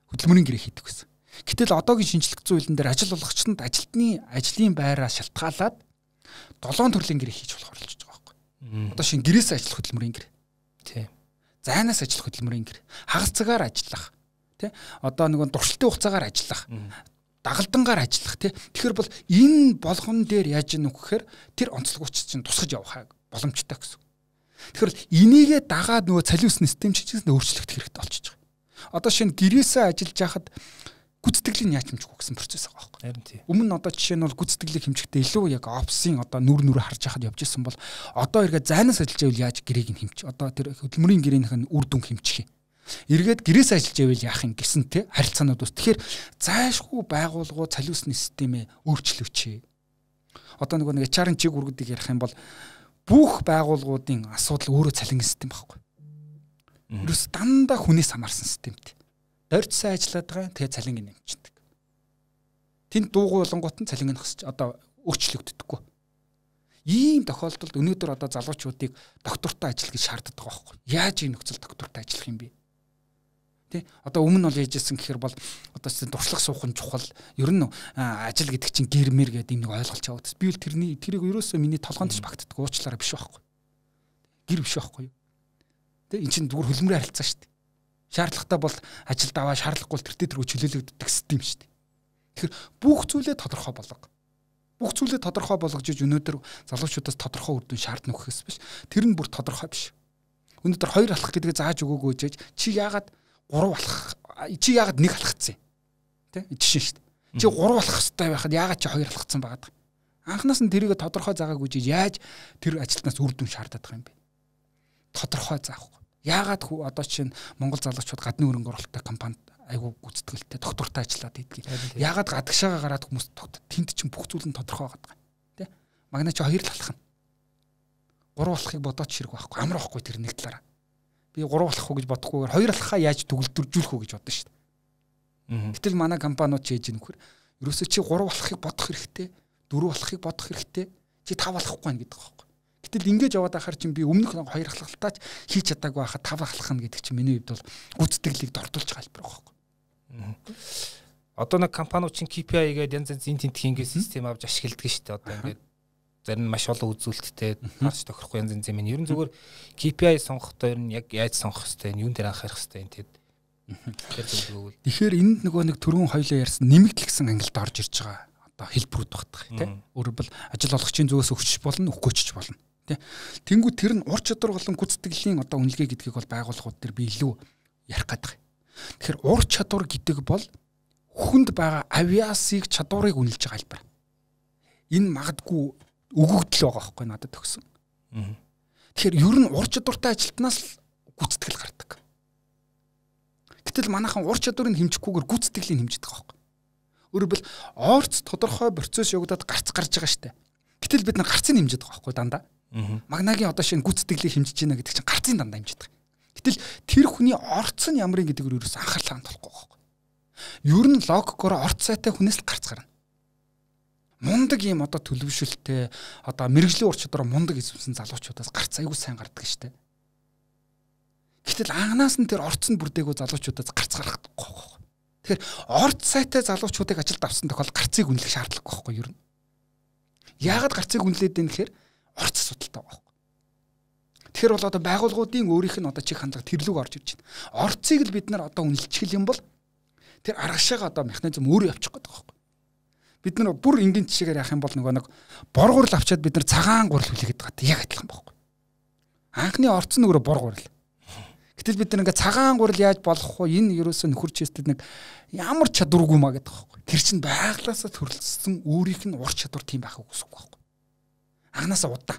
хөдөлмөрийн гэрээ хийдэг гэсэн. Гэтэл одоогийн шинжлэх зүйн хуулинд дээр ажил олгогчдод ажилтны ажлын байраа шалтгаалаад долоон төрлийн гэрээ хийж болох оролцож байгаа байхгүй. Одоо шинэ гэрээс ажиллах хөдөлмөрийн гэрээ. Тийм. Зайнаас ажиллах хөдөлмөрийн гэрээ. Хагас цагаар ажиллах. Тэ? Одоо нэг дуршилтын хугацаагаар ажиллах. Дагалдангаар ажиллах тий. Тэгэхээр бол энэ болгон дээр яаж ийнө гэхээр тэр онцлогч чинь тусгаж явах боломжтой гэсэн. Тэгэхээр энийгээ дагаад нөгөө цалин өссөн систем чинь өөрчлөгдөх хэрэгтэй болчихж байгаа. Одоо шинэ гэрээсээ ажиллаж байхад гүйцэтгэлийн яаж хэмжих вэ гэсэн процесс байгаа байхгүй. Харин тий. Өмнө нь одоо жишээ нь бол гүйцэтгэлийг хэмжихдээ илүү яг опсын одоо нүр нүрэ харж байхад явж исэн бол одоо эргээ зайнаас ажиллаж байвал яаж гэрээг нь хэмжих. Одоо тэр хөдөлмөрийн гэрээнийх нь үр дүн хэмжих юм. Эргээд гэрээс ажиллаж байвал яах юм гэсэн те харилцаанууд ус. Тэгэхээр зайшгүй байгууллагууд цалин өсний системээ өөрчлөвчээ. Одоо нөгөө нэг эйч ар-ын чиг үргэлдэг ярих юм бол бүх байгууллагуудын асуудал өөрөө цалингийн систем байхгүй. Ерөөс дандаа хүнээс хамаарсан системтэй. Дорд сайн ажиллаад байгаа тэгээ цалингийн нэмчихдэг. Тэнд дуугүй болонгууд нь цалингийн хасч одоо өөрчлөгддөггүй. Ийм тохиолдолд өнөөдөр одоо залуучуудыг доктортой ажил гэж шаарддаг байгаа байхгүй. Яаж ийм нөхцөл доктортой ажиллах юм бэ? Тэ одоо өмнө нь бол яажсэн гэхээр бол одоо дуршлах суухан чухал ер нь ажил гэдэг чинь гэрмэр гэдэг нэг ойлголт явагдсан. Би бол тэрний тэрийг ерөөсөө миний толгоонд ч багтдаг уучлаарай биш байхгүй. гэр биш байхгүй юу? Тэ эн чинь зүгээр хөлмрийн харилцаа шүү дээ. Шаардлагатай бол ажилд аваа, шаардлагагүй бол тэр төрөө чөлөөлөгддөг систем шүү дээ. Тэгэхээр бүх зүйлээ тодорхой болгоо. Бүх зүйлээ тодорхой болгож өнөөдөр залуучуудаас тодорхой үр дүн шаардна гэхээс биш. Тэр нь бүр тодорхой биш. Өнөөдөр хоёр алах гэдгээ зааж өгөөгөө жиж чи яагаад гурав алах, чи яагаад нэг алхацсан юм? Тэ жишээ шүү дээ. Чи гурав алах хэрэгтэй байхад яагаад чи хоёр алхацсан байгаад? Анханаас нь тэрийг тодорхой заагаагүй жиж яаж тэр ажилтнаас үр дүн шаардаад байгаа юм бэ? Тодорхой заахгүй. Яагаад одоо чинь Монгол залуучууд гадны хөрөнгө оруулалттай компанид айгүй гүйцэтгэлтэй доктортой ажиллаад идэгий. Яагаад гадагшаага гараад хүмүүс тэнд чинь бүх зүйл нь тодорхой байгаа юм. Тэ? Магнаа чи хоёр л алах нь. Гурав алахыг бодоод чирэг байхгүй. Амар байхгүй тэр нэг талаараа. Би гурав алах уу гэж бодохгүйгээр хоёр алахаа яаж төгөлдржүүлэх үү гэж бодсон шүү дээ. Гэтэл манай компаниуд ч ээж нөхөр ерөөсөө чи гурав алахыг бодох хэрэгтэй, дөрөв алахыг бодох хэрэгтэй. Чи тав алахгүй байна гэдэг байхгүй. Гэтэл ингэж яваад ахаар чинь би өмнөх хоёр алхалтаач хийж чадаагүй байхад тав алхах нь гэдэг чинь миний хувьд бол гүйцэтгэлийг дордуулж галбар байхгүй. Одоо нэг компаниуд чинь кей пи ай гэдэг янз янз тентхийн ингээд систем авч ашигладаг шүү дээ. Одоо ингээд зарим нь маш олон үзүүлэлттэй таарч тохирохгүй янз янз юм. Ер нь зүгээр кей пи ай сонгохдоо ер нь яг яаж сонгох хэрэгтэй, юун дээр анхаарах хэрэгтэй юм тэгэд. Тэгэхээр энд нөгөө нэг түрүүн хоёлоо ярьсан нэмэгдлэгсэн ангилд орж ирж байгаа одоо хэлбэрүүд багтах тийм. Өөрөөр бол ажил олгогчийн зүгээс өгч болно, өгөхгүй ч болно. Тэнгүү тэр нь ур чадвар болон гүйцэтгэлийн одоо үнэлгээ гэдгийг бол байгууллагууд дээр би илүү ярих гэдэг. Тэгэхээр ур чадвар гэдэг бол хүнд байгаа авиасыг чадварыг үнэлж байгаа хэлбэр. Энэ магадгүй өгөгдөл байгаа байхгүй надад төгсөн. Тэгэхээр ер нь ур чадвартай ажилтнаас л гүйцэтгэл гардаг. Гэтэл манайхан ур чадварыг хэмжихгүйгээр гүйцэтгэлийг хэмждэг байгаа байхгүй. Өөрөөр бол орц тодорхой процесс явагдаад гарц гарч байгаа штэ. Гэтэл бид нар гарцыг хэмжиж байгаа байхгүй дандаа. Магнагийн одоо шинэ гүйцэтгэлийг хэмжиж байна гэдэг чинь гарцын дандаа хэмжиж байгаа. Гэтэл тэр хүний орц нь ямар юм гэдгээр ерөөс анхаарлаа хандуулахгүй байхгүй. Ер нь логикоор орц сайтай хүнээс л гарц гарна. Мундаг юм одоо төлөвшөлттэй одоо мэрэгжлийн ур чадвар мундаг эзэмсэн залуучуудаас гарц аягүй сайн гардаг штэ. Гэтэл анханаас нь тэр орц нь бүрдээгүй залуучуудаас гарц гарахгүй байхгүй. Тэгэхээр орц сайтай залуучуудыг ажилд авсан тохиолдолд гарцыг үнэлэх шаардлагагүй байхгүй ер нь. Яагаад гарцыг үнэлээд байна гэхээр орц асуудалтай байгаа байхгүй. Тэгэхээр бол одоо байгууллагуудын өөрийнх нь одоо чих хандлага тэрлүүг орж ирж байна. Орцыг л бид нар одоо үнэлчих юм бол тэр аргашаага одоо механизм өөрөө явчих гээд байгаа байхгүй. Бид нар бүр энгийн жишээгээр яах юм бол нөгөө нэг боргуурл авчаад бид нар цагаан гурал хүлээгээд байгаа. Яг адилхан байхгүй. Анхны орц нь өөрөө боргуурл. Гэтэл бид нар ингээ цагаан гурал яаж болох вэ? Энэ ерөөсөө нөхөр чэстэд нэг ямар чадваргүй маа гэдэг байхгүй. Тэр чинь байглаасаа төрөлцсөн өөрийнх нь ур чадвар тийм байхыг хүсэхгүй байхгүй. Анханасаа удаа.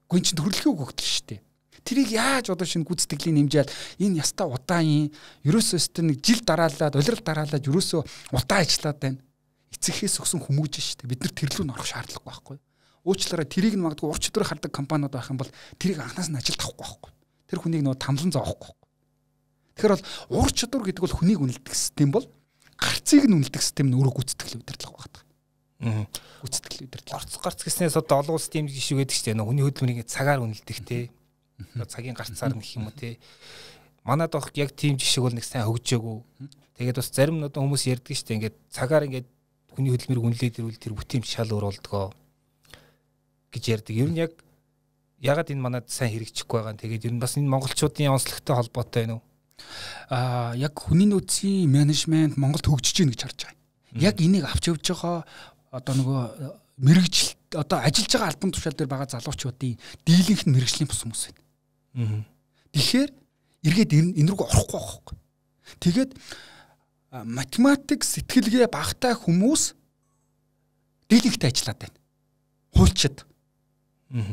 Гүн чинь төрөлхөө өгөгдөл шүү дээ. Тэрийг яаж одоо шинэ гүйцэтгэлийн нэмжээл энэ яста удаан юм. Ерөөсөө өстө нэг жил дараалаад, улирал дараалаад ерөөсөө удаан ажиллаад байна. Эцэгхээс өгсөн хүмүүж шүү дээ. Бид нар тэрлүү н орох шаардлагагүй байхгүй. Уучлаарай тэрийг нь магадгүй ур чадвар хардаг компаниуд байх юм бол тэрийг анханаас нь ажилд авахгүй байхгүй. Тэр хүнийг нөө тамлан зоохгүй. Тэгэхээр бол ур чадвар гэдэг бол хүнийг үнэлдэг систем бол гарцыг нь үнэлдэг систем нь өөрөө гүйцэтгэл удирдлага багтдаг. Аа. Гүйцэтгэл удирдлага. Гарц гарц гэснээс одоо олон улсын тийм жишээ гэдэг чинь хүний хөдөлмөрийг цагаар үнэлдэг те. Цагийн гарцаар нь гэх юм уу те. Манайд авах яг тийм жишээг бол нэг сайн хөгжөөгүй. Тэгээд бас зарим нь одоо хүмүүс ярьдаг шүү дээ. Ингээд цагаар ингээд хүний хөдөлмөрийг үнэлээд ирвэл тэр бүтээмж шал өөр болдгоо гэж ярьдаг. Ер нь яг ягаад энэ манайд сайн хэрэгжихгүй байгаа юм. Тэгээд ер нь бас энэ монголчуудын онцлогтой холбоотой байна уу? Аа яг хүний нөөцийн менежмент Монголд хөгжиж гин гэж харж байгаа. Яг энийг авч явж байгаа одоо нөгөө мэрэгжил одоо ажиллаж байгаа албан тушаал дээр байгаа залуучуудын дийлэнх нь мэрэгжлийн бус хүмүүс байна. Тэгэхээр эргээд энэ рүү орохгүй байхгүй. Тэгээд математик сэтгэлгээ багтай хүмүүс дийлэнхтэй ажиллаад байна. Хуульчид,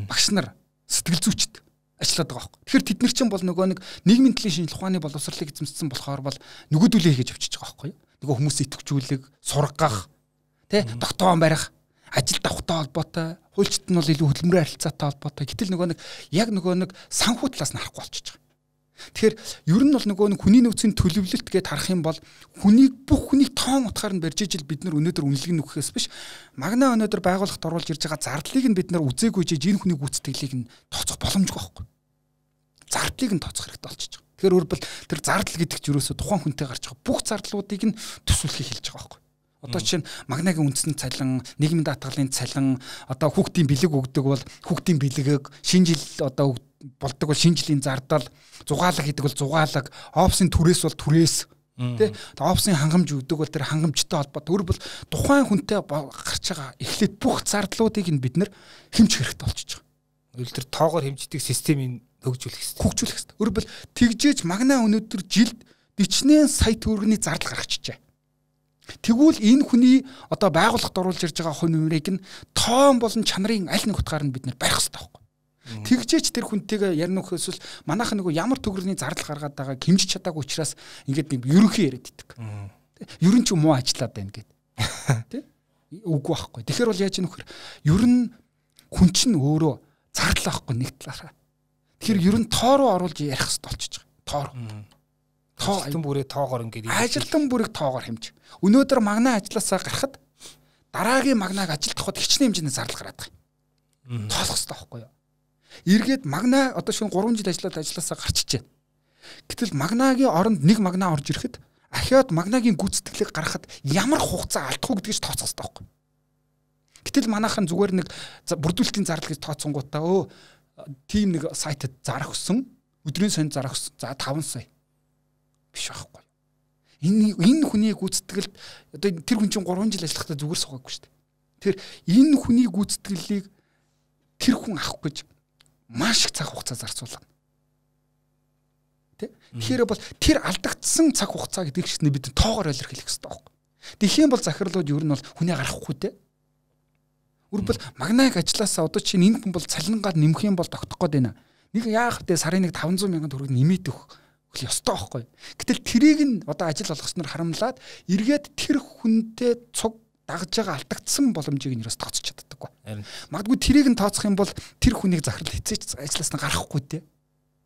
багш нар, сэтгэл зүйчд ажиллаад байгаа байхгүй. Тэгэхээр тэд нар чинь бол нөгөө нэг нийгмийн төлөв шинжилх ухааны боловсролыг эзэмшсэн болохоор бол нөгөөдүүлээ хийж авчиж байгаа байхгүй. Нөгөө хүмүүс идэвхжүүлэг, сургах, тэ тогтоон барих, ажилд авахтай холбоотой, хуульчид нь бол илүү хөдөлмөрийн харилцаатай холбоотой. Гэтэл нөгөө нэг яг нөгөө нэг санхүү талаас нь харахгүй болчихж байгаа. Тэгэхээр ер нь бол нөгөө нэг хүний нөөцийн төлөвлөлт гэдээ харах юм бол хүнийг бүх хүнийг тоон утгаар нь барьж ижил бид нар өнөөдөр үнэлэг нөхөхөөс биш магнаа өнөөдөр байгууллагт оруулж ирж байгаа зардлыг нь бид нар үзээгүй жиж энэ хүний гүйцэтгэлийг нь тооцох боломжгүй байхгүй. Зардлыг нь тооцох хэрэгтэй болчихж байгаа. Тэгэхээр өөрөөр тэр зардал гэдэг чинь ерөөсө тухайн хүнтэй гарч байгаа бүх зардлуудыг нь төсвөлхийг хэлж байгаа байхгүй. Одоо чинь магнагийн үндэсний цалин, нийгмийн даатгалын цалин, одоо хүүхдийн бэлэг өгдөг бол хүүхдийн бэлгээг шинэ жил одоо болдог бол шинэ жилийн зардал, зугаалга гэдэг бол зугаалга, опсын түрээс бол түрээс тий. Опсын хангамж өгдөг бол тэр хангамжтай холбоотой. Өөр бол тухайн хүнтэй гарч байгаа эхлээд бүх зардлуудыг нь бид нэр хэмжих хэрэгтэй болчихж байгаа. Өөр тэр тоогоор хэмждэг системийг хөгжүүлэх хэрэгтэй. Хөгжүүлэх хэрэгтэй. Өөр бол тэгжээж магнаа өнөөдөр жилд дичнээн сая төгрөгийн зардал гаргачихжээ. Тэгвэл энэ хүний одоо байгууллагад оруулж ирж байгаа хувь нэмрийг нь тоон болон чанарын аль нэг утгаар нь бид нэр барих хэрэгтэй байхгүй. Тэгжээч тэр хүнтэйгээ ярина нөхөсөл манайхан нөгөө ямар төгрөгийн зардал гаргаад байгааг хэмжиж чадаагүй учраас ингээд нэг ерөнхий яриад идэг. Ерөн ч муу ажиллаад байна гэд. Тэ? Үгүй байхгүй. Тэгэхээр бол яаж нөхөр ерөн хүн чинь өөрөө зардал авахгүй нэг талаараа. Тэгэхээр ерөн тоо руу оруулж ярих хэрэгтэй болчихж байгаа. Тоо руу. Тоо ажилтан бүрээ тоогоор ингээд ажилтан бүрийг тоогоор хэмж. Өнөөдөр магнаа ажилласаа гарахад дараагийн магнааг ажилтгахад хичнээн хэмжээний зардал гараад байгаа. Тоолох хэрэгтэй байхгүй юу? Эргээд магнаа одоо шинэ гурван жил ажиллаад ажилласаа гарчиж байна. Гэтэл магнагийн оронд нэг магнаа орж ирэхэд ахиад магнагийн гүйцэтгэлийг гаргахад ямар хугацаа алдах уу гэдгийг тооцох хэрэгтэй байхгүй. Гэтэл манайхан зүгээр нэг бүрдүүлэлтийн зардал гэж тооцсонгуудаа өө тийм нэг сайтад зарах өсөн өдрийн сонь зарах өсөн за таван сая биш байхгүй. Энэ энэ хүний гүйцэтгэлд одоо тэр хүн чинь гурван жил ажиллахдаа зүгээр суугаагүй шүү дээ. Тэр энэ хүний гүйцэтгэлийг тэр хүн авах гэж маш их цаг хугацаа зарцуулна. Тэ? Тэгэхээр бол тэр алдагдсан цаг хугацаа гэдэг чигснээ бид тоогоор илэрхийлэх хэрэгтэй байхгүй. Тэхийн бол захирлууд ер нь бол хүнээ гаргахгүй те. Үрбэл магнайг ажилласаа одоо чинь энэ хүн бол цалингаар нэмэх юм бол тогтох гээд байна. Нэг яах вэ? Сарын нэг таван зуун мянган төгрөг нэмээд өгөх ёстой байхгүй. Гэтэл тэрийг нь одоо ажил болгосноор харамлаад эргээд тэр хүнтэй цуг дагж байгаа алдагдсан боломжийг нь юус тооцож чаддаггүй. Магадгүй тэрийг нь тооцох юм бол тэр хүнийг захирал хэзээч ажиллаас нь гарахгүй те.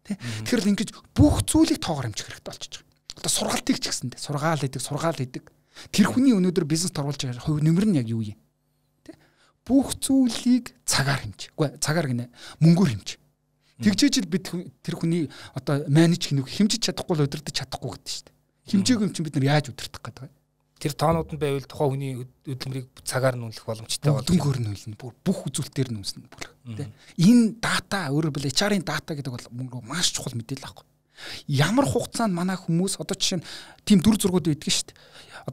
Тэ? Тэгэхээр л ингэж бүх зүйлийг тоогоор хэмжих хэрэгтэй болчихж байгаа. Одоо сургалтыг ч гэсэндээ сургаал хийдэг, сургаал хийдэг. Тэр хүний өнөөдөр бизнест оруулж байгаа хувь нэмэр нь яг юу юм? Тэ? Бүх зүйлийг цагаар хэмж. Үгүй цагаар гинэ мөнгөөр хэмж. Тэгжээж л бид тэр хүний одоо менеж хийнүг хэмжиж чадахгүй л удирдах чадахгүй гэдэг шүү дээ. Хэмжээгүй юм чинь бид нар яаж удирдах гэдэг вэ? Тэр тоонууд нь байвал тухайн хүний хөдөлмөрийг цагаар нь үнэлэх боломжтой болно. Дөнгөөр нь үнэлнэ. Бүх үзүүлэлтээр нь үнэлнэ бүр. Тэ. Энэ дата өөрөөр хэлбэл эйч ар-ын дата гэдэг бол мөнгө маш чухал мэдээлэл аахгүй. Ямар хугацаанд манай хүмүүс одоо жишээ нь тийм дүр зургууд байдаг шүү дээ.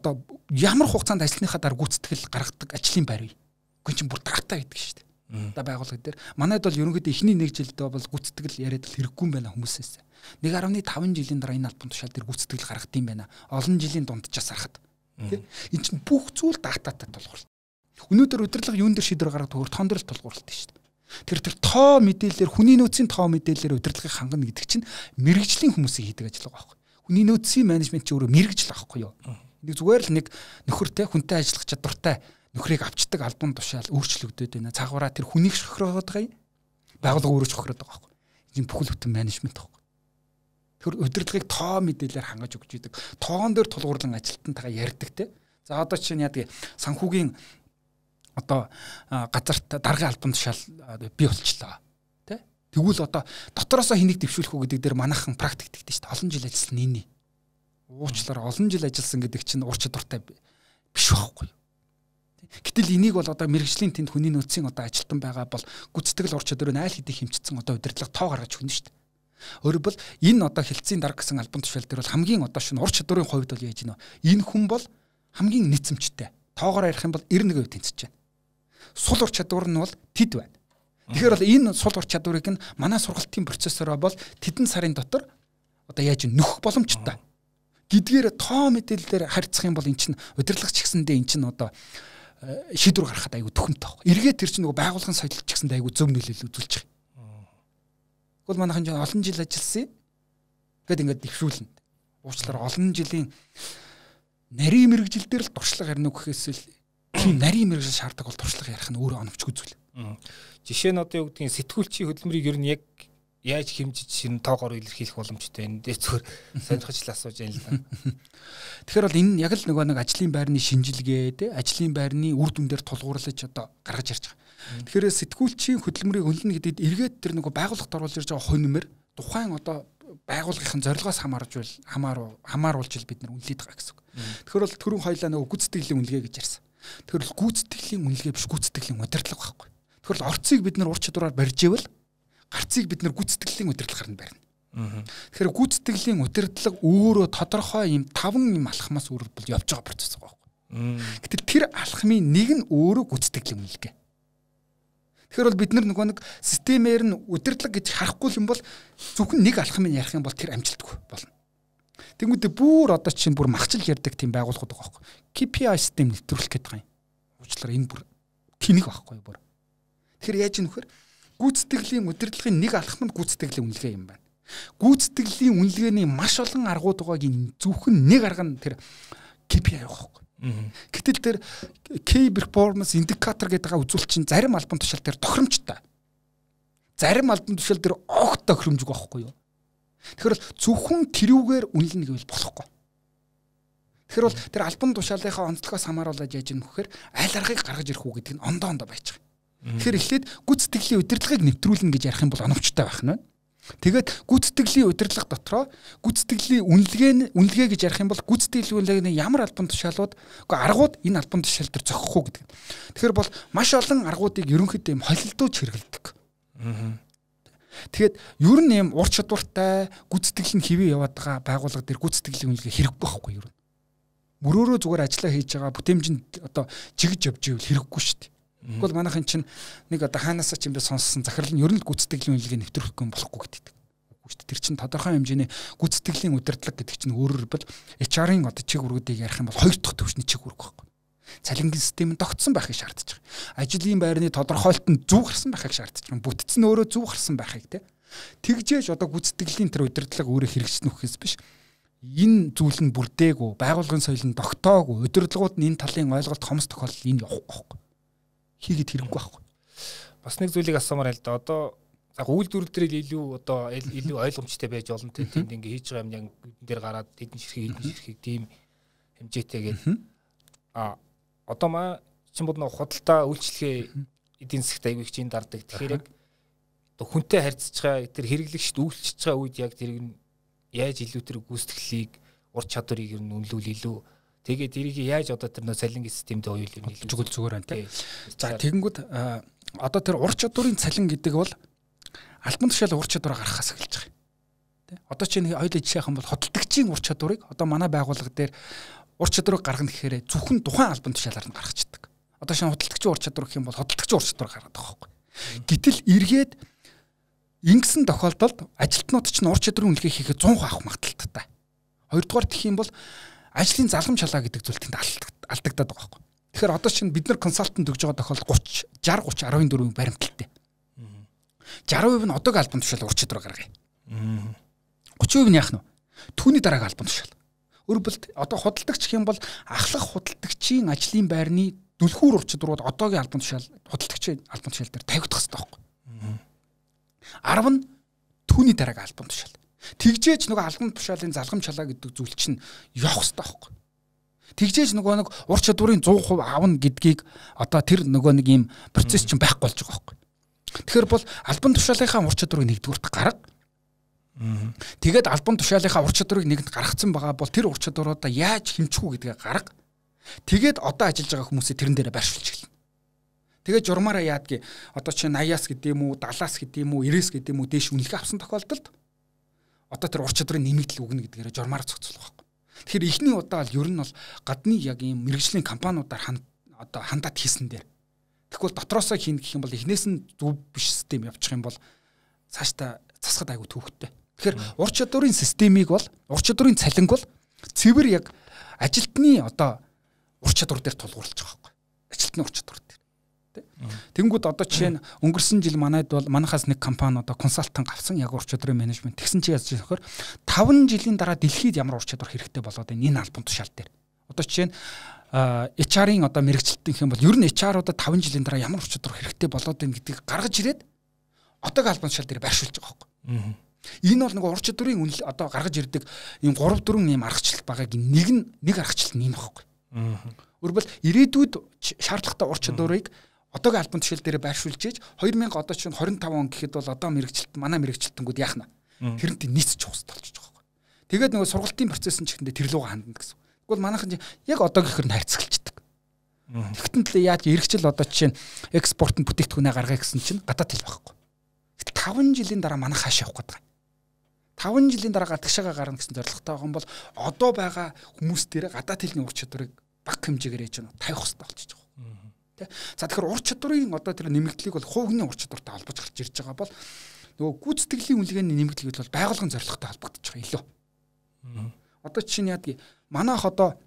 Одоо ямар хугацаанд ажлынхаа дараа гүйцэтгэл гаргадаг ажлын байр вэ? Гүн чинь бүр дата гэдэг шүү дээ. Одоо байгууллага дээр манайд бол ерөнхийдөө эхний нэг жилдээ бол гүйцэтгэл яриад л хэрэггүй юм байна хүмүүсээс. нэг гаруй таван жилийн дараа энэ албан тушаал дээр гүйцэтгэл гаргах юм байна. Олон жилийн дунджаас харахад. Тэ? Энэ чинь бүх зүйл дататай тулгуурлалт. Өнөөдөр удирдлага юун дээр шийдвэр гаргадаг төгөр тоон дээр л тулгуурлалт шүү дээ. Тэр тэр тоо мэдээлэлээр хүний нөөцийн тоо мэдээлэлээр удирдлагыг хангана гэдэг чинь мэрэгжлийн хүмүүсийн хийдэг ажил байгаа байхгүй. Хүний нөөцийн менежмент чи өөрөө мэрэгжил байхгүй юу? Нэг зүгээр л нэг нөхөртэй хүнтэй ажиллах чадвартай нөхрийг авчдаг албан тушаал өөрчлөгдөд байна. Цаагаараа тэр хүнийг шохироод байгаа юм. Байгууллага өөрөө шохироод байгаа байхгүй. Энэ бүхэл бүтэн менежмент байхгүй. Тэр удирдлагыг тоо мэдээлэлээр хангаж өгч идэг. Тоон дээр тулгуурлан ажилтнтайгаа ярьдаг те. За одоо чинь яадаг санхүүгийн одоо газарт даргын албан тушаал бий болчлоо тий. Тэгвэл одоо дотроосоо хэнийг дэвшүүлэх үү гэдэг дээр манайхан практик тэгдэж шүү дээ. Олон жил ажилласан нээний. Уучлаарай олон жил ажилласан гэдэг чинь ур чадвартай биш байхгүй. Гэтэл энийг бол одоо мэрэгжлийн тэнд хүний нөөцийн одоо ажилтан байгаа бол гүйцэтгэл ур чадварыг айл хэдий хэмжигдсэн одоо удирдлага тоо гаргаж өгнө шүү дээ. Өөрөөр бол энэ одоо хилцээний дарга гэсэн албан тушаал дээр бол хамгийн одоо шинэ ур чадварын хувьд бол яаж гинэ. Энэ хүн бол хамгийн нийцэмжтэй. Тоогоор ярих юм бол эрдэнэ хувь тэнцэж байна. Сул ур чадвар нь бол тэд байна. Тэгэхээр бол энэ сул ур чадварыг нь манай сургалтын процессороо бол тэдэн сарын дотор одоо яаж нөхөх боломжтой. Гэдгээр тоо мэдээлэлээр харьцах юм бол эн чинь удирдлагч гэсэндээ эн чинь одоо шийдвэр гаргахад айгүй төхөмтэй баг. Эргээд тэр чинь нөгөө байгууллагын соёлч гэсэндээ айгүй зөв нөлөөлөл үзүүлж байгаа. Тэгвэл манайхан ч олон жил ажилласан гэд ингээд дэвшүүлнэ. Уучлаарай олон жилийн нарийн мэрэгжил дээр л туршлага ярина гэхээс л тийм нарийн мэрэгжил шаарддаг бол туршлага ярих нь өөрөө оновчгүй зүйл. Жишээ нь одоо юу гэдгийг сэтгүүлчийн хөдөлмөрийг ер нь яг яаж хэмжиж шинэ тоогоор илэрхийлэх боломжтой энэ дээр зөвхөн сонирхож л асууж байна л да. Тэгэхээр бол энэ яг л нөгөө нэг ажлын байрны шинжилгээ те ажлын байрны үр дүндээр тулгуурлаж одоо гаргаж ирж байгаа. Тэгэхээр сэтгүүлчийн хөдөлмөрийг үнэлнэ гэдэгт эргээд тэр нөгөө байгууллагт оруулж ирж байгаа хувь нэмэр тухайн одоо байгууллагын зорилгоос хамаарж байл хамааруу хамааруулж ил бид нар үнэлээд байгаа гэсэн үг. Тэгэхээр бол түрүүн хоёлаа нөгөө гүйцэтгэлийн үнэлгээ гэж ярьсан. Тэгэхээр бол гүйцэтгэлийн үнэлгээ биш гүйцэтгэлийн удирдлага байхгүй. Тэгэхээр бол орцыг бид нар ур чадвараар барьж ивэл гарцыг бид нэр гүйцэтгэлийн удирдлагаар нь барина. Тэгэхээр гүйцэтгэлийн удирдлага өөрөө тодорхой юм таван юм алхмаас өөр бол явж байгаа процесс байгаа байхгүй. Гэтэл тэр алхмын нэг нь өөрөө гүйцэтгэлийн үнэлгээ. Тэгэхээр бол бид нар нөгөө нэг системээр нь удирдлага гэж харахгүй юм бол зөвхөн нэг алхмыг ярих юм бол тэр амжилтгүй болно. Тэнгүүдээ бүр одоо чинь бүр махчил ярьдаг тийм байгууллагууд байгаа байхгүй. кей пи ай систем нэвтрүүлэх гэдэг юм. Уучлаарай энэ бүр тэнэг байхгүй бүр. Тэгэхээр яаж юм нөхөр гүйцэтгэлийн удирдлагын нэг алхам нь гүйцэтгэлийн үнэлгээ юм байна. Гүйцэтгэлийн үнэлгээний маш олон аргууд байгааг зөвхөн нэг арга нь тэр кей пи ай байхгүй. Гэтэл тэр key performance indicator гэдэг байгаа үзүүлэлт чинь зарим албан тушаал дээр тохиромжтой. Зарим албан тушаал дээр огт тохиромжгүй байхгүй юу? Тэгэхээр зөвхөн тэрүүгээр үнэлнэ гэвэл болохгүй. Тэгэхээр бол тэр албан тушаалынхаа онцлогоос хамааруулаад яаж юм гэхээр аль аргыг гаргаж ирэх үү гэдэг нь ондоо ондоо байж байгаа. Тэгэхээр эхлээд гүйцэтгэлийн удирдлагыг нэвтрүүлнэ гэж ярих юм бол оновчтой байх нь. Тэгээд гүйцэтгэлийн удирдлага дотроо гүйцэтгэлийн үнэлгээ нь үнэлгээ гэж ярих юм бол гүйцэтгэлийн үнэлгээний ямар албан тушаалууд үгүй аргууд энэ албан тушаал дээр зохих уу гэдэг. Тэгэхээр бол маш олон аргуудыг ерөнхийдөө юм холилдуулж хэрэглэдэг. Тэгээд ер нь юм ур чадвартай гүйцэтгэлийн хэвээ яваад байгаа байгууллага дээр гүйцэтгэлийн үнэлгээ хэрэггүй байхгүй юу? Мөрөөрөө зүгээр ажиллаа хийж байгаа бүтээмжинд одоо жигж явж ивэл хэрэггүй шүү дээ. Тэгвэл манайхын чинь нэг одоо хаанаас ч юм бэ сонссон захирал нь ер нь гүйцэтгэлийн үнэлгээ нэвтрүүлэхгүй юм болохгүй гэдэг. Үгүй шүү дээ. Тэр чинь тодорхой хэмжээний гүйцэтгэлийн удирдлага гэдэг чинь өөрөөр бол эйч ар-ын одоо чиг үүргүүдийг ярих юм бол хоёр дахь төвшний чиг үүрэг байхгүй. Цалингийн систем нь тогтсон байхыг шаардаж байгаа. Ажлын байрны тодорхойлолт нь зөв гарсан байхыг шаардаж байгаа. Бүтцэн өөрөө зөв гарсан байхыг те. Тэгжээж одоо гүйцэтгэлийн тэр удирдлага өөрөө хэрэгжсэн үхээс биш. Энэ зүйл нь бүрдээгүй, байгууллагын соёл нь тогтоогүй, удирдлагууд нь энэ талын ойлголт хомс тохиолдол энэ явахгүй байхгүй. Хийгээд хэрэггүй байхгүй. Бас нэг зүйлийг асуумаар л да. Одоо за үйлдвэрлэл дээр илүү одоо илүү ойлгомжтой байж болно те. Тэнд ингээ хийж байгаа юм яг энэ дээр гараад тэдэн ширхэг эдэн ширхэг тийм хэмжээтэйгээд а одоо маа чинь bod нэг худалдаа үйлчлэгээ эдийн засгт аягүй их чинь дардаг. Тэгэхээр яг одоо хүнтэй харьцаж байгаа тэр хэрэглэгчд үйлчлэж байгаа үед яг тэр яаж илүү тэр гүйцэтгэлийг ур чадварыг ер нь үнэлүүл илүү тэгээд тэрийг яаж одоо тэр нөө цалингийн системд оюул юм илүү зүгээр зүгээр байна тийм. За тэгэнгүүт одоо тэр ур чадварын цалин гэдэг бол албан тушаал ур чадвараа гаргахаас эхэлж байгаа. Тийм. Одоо чинь хоёул жишээх юм бол хөдөлгөгчийн ур чадварыг одоо манай байгууллага дээр ур чадварыг гаргана гэхээр зөвхөн тухайн албан тушаалаар нь гаргацдаг. Одоо шинэ хөдөлгөгчийн ур чадвар гэх юм бол хөдөлгөгчийн ур чадвар гаргадаг байхгүй. Гэтэл эргээд ингэсэн тохиолдолд ажилтнууд ч ур чадварын үнэлгээ хийхэд цонх авах магадaltaй. Хоёрдугаар гэх юм бол ажлын залгамж халаа гэдэг зүйл тэнд алдагдаад байгаа байхгүй. Тэгэхээр одоо чинь бид нар консалтант өгж байгаа тохиолдолд тридцать шестьдесят тридцать арван дөрвийн баримталтай. сixty percent нь одоогийн албан тушаал ур чадвар гаргая. thirty percent нь яах нь вэ? Түүний дараагийн албан тушаал. Өөрөөр хэлбэл одоо худалдагч гэх юм бол ахлах худалдагчийн ажлын байрны дүлхүүр ур чадварууд одоогийн албан тушаал худалдагчийн албан тушаал дээр тавигдах хэрэгтэй байхгүй. ten нь түүний дараагийн албан тушаал. Тэгжээж нөгөө албан тушаалын залгамж халаа гэдэг зүйл чинь явах хэрэгтэй байхгүй. Тэгжээж нөгөө нэг ур чадварын one hundred percent авна гэдгийг одоо тэр нөгөө нэг ийм процесс чинь байхгүй болж байгаа байхгүй. Тэгэхээр бол албан тушаалынхаа ур чадварыг нэгдүгürt гарга. Тэгээд албан тушаалынхаа ур чадварыг нэгэнд гаргацсан байгаа бол тэр ур чадваруудаа яаж хэмжих үү гэдгээ гарга. Тэгээд одоо ажиллаж байгаа хүмүүсээ тэрэн дээрээ байршуулж эхэлнэ. Тэгээд журмаараа яадгийг одоо чи eighty-аас гэдэг юм уу, seventy-аас гэдэг юм уу, ninety-аас гэдэг юм уу дээш үнэлгээ авсан тохиолдолд одоо тэр ур чадварын нэмэгдэл үгнэ гэдгээр журмаар зохицуулах байхгүй. Тэгэхээр эхний удаа л ер нь бол гадны яг ийм мэрэгжлийн компаниудаар хан одоо хандаад хийсэн дээр. Тэгвэл дотроосоо хийн гэх юм бол эхнээс нь зөв биш систем явуучих юм бол цаашдаа засахад айгүй төвхтэй. Тэгэхээр ур чадварын системийг бол ур чадварын цалинг бол цэвэр яг ажилтны одоо ур чадвар дээр тулгуурлаж байгаа байхгүй. Ажилтны ур чадвар дээр. Тэнгүүд одоо жишээ нь өнгөрсөн жил манайд бол манахаас нэг компани одоо консалтант авсан яг ур чадварын менежмент тэгсэн чи яаж яахаар five жилийн дараа дэлхийд ямар ур чадвар хэрэгтэй болоод байна энэ албан тушаал дээр. Одоо жишээ нь эйч ар-ын одоо мэрэгчлэлтийн хэм бол ер нь эйч ар-уудад five жилийн дараа ямар ур чадвар хэрэгтэй болоод байна гэдгийг гаргаж ирээд одоогийн албан тушаал дээр байршуулж байгаа байхгүй. Энэ бол нөгөө ур чадварын үнэл одоо гаргаж ирдэг ийм three four ийм аргачлалт байгааг нэг нь нэг аргачлалт нь энэ байхгүй. Өөрөлдвөл ирээдүйд шаардлагатай ур чадварыг одоогийн албан тушаал дээр байршуулж ийж two thousand одоо чинь twenty-five он гэхэд бол одоо мэрэгчлэлт манай мэрэгчлэлтэнгүүд яах нь тэрнтэй нийцэж ухстай болж байгаа байхгүй. Тэгээд нөгөө сургалтын процесс нь ч ихэндээ тэр лугаа хандна гэсэн. Тэгвэл манайхан яг одоогийнхэр нь харьцагчдаг. Тэгтэн л яаж эргэжил одоо жишээ нь экспортын бүтээгдэхүүнээ гаргая гэсэн чинь гадаад хэл байхгүй. таван жилийн дараа манайх хааш явах гэдэг. таван жилийн дараа гадагшаага гарна гэсэн зорилготой байгаа юм бол одоо байгаа хүмүүс дээр гадаад хэлний ур чадварыг бага хэмжээгээр ээж нь тавих хэрэгтэй болчихж байгаа. Тэ. За тэгэхээр ур чадварын одоо тэр нэмэгдлийг бол хувийн ур чадвартай холбож гарч ирж байгаа бол нөгөө гүйцэтгэлийн үнэлгээний нэмэгдлийг бол байгууллагын зорилготой холбогдож байгаа илүү. Одоо чинь яадаг манайх одоо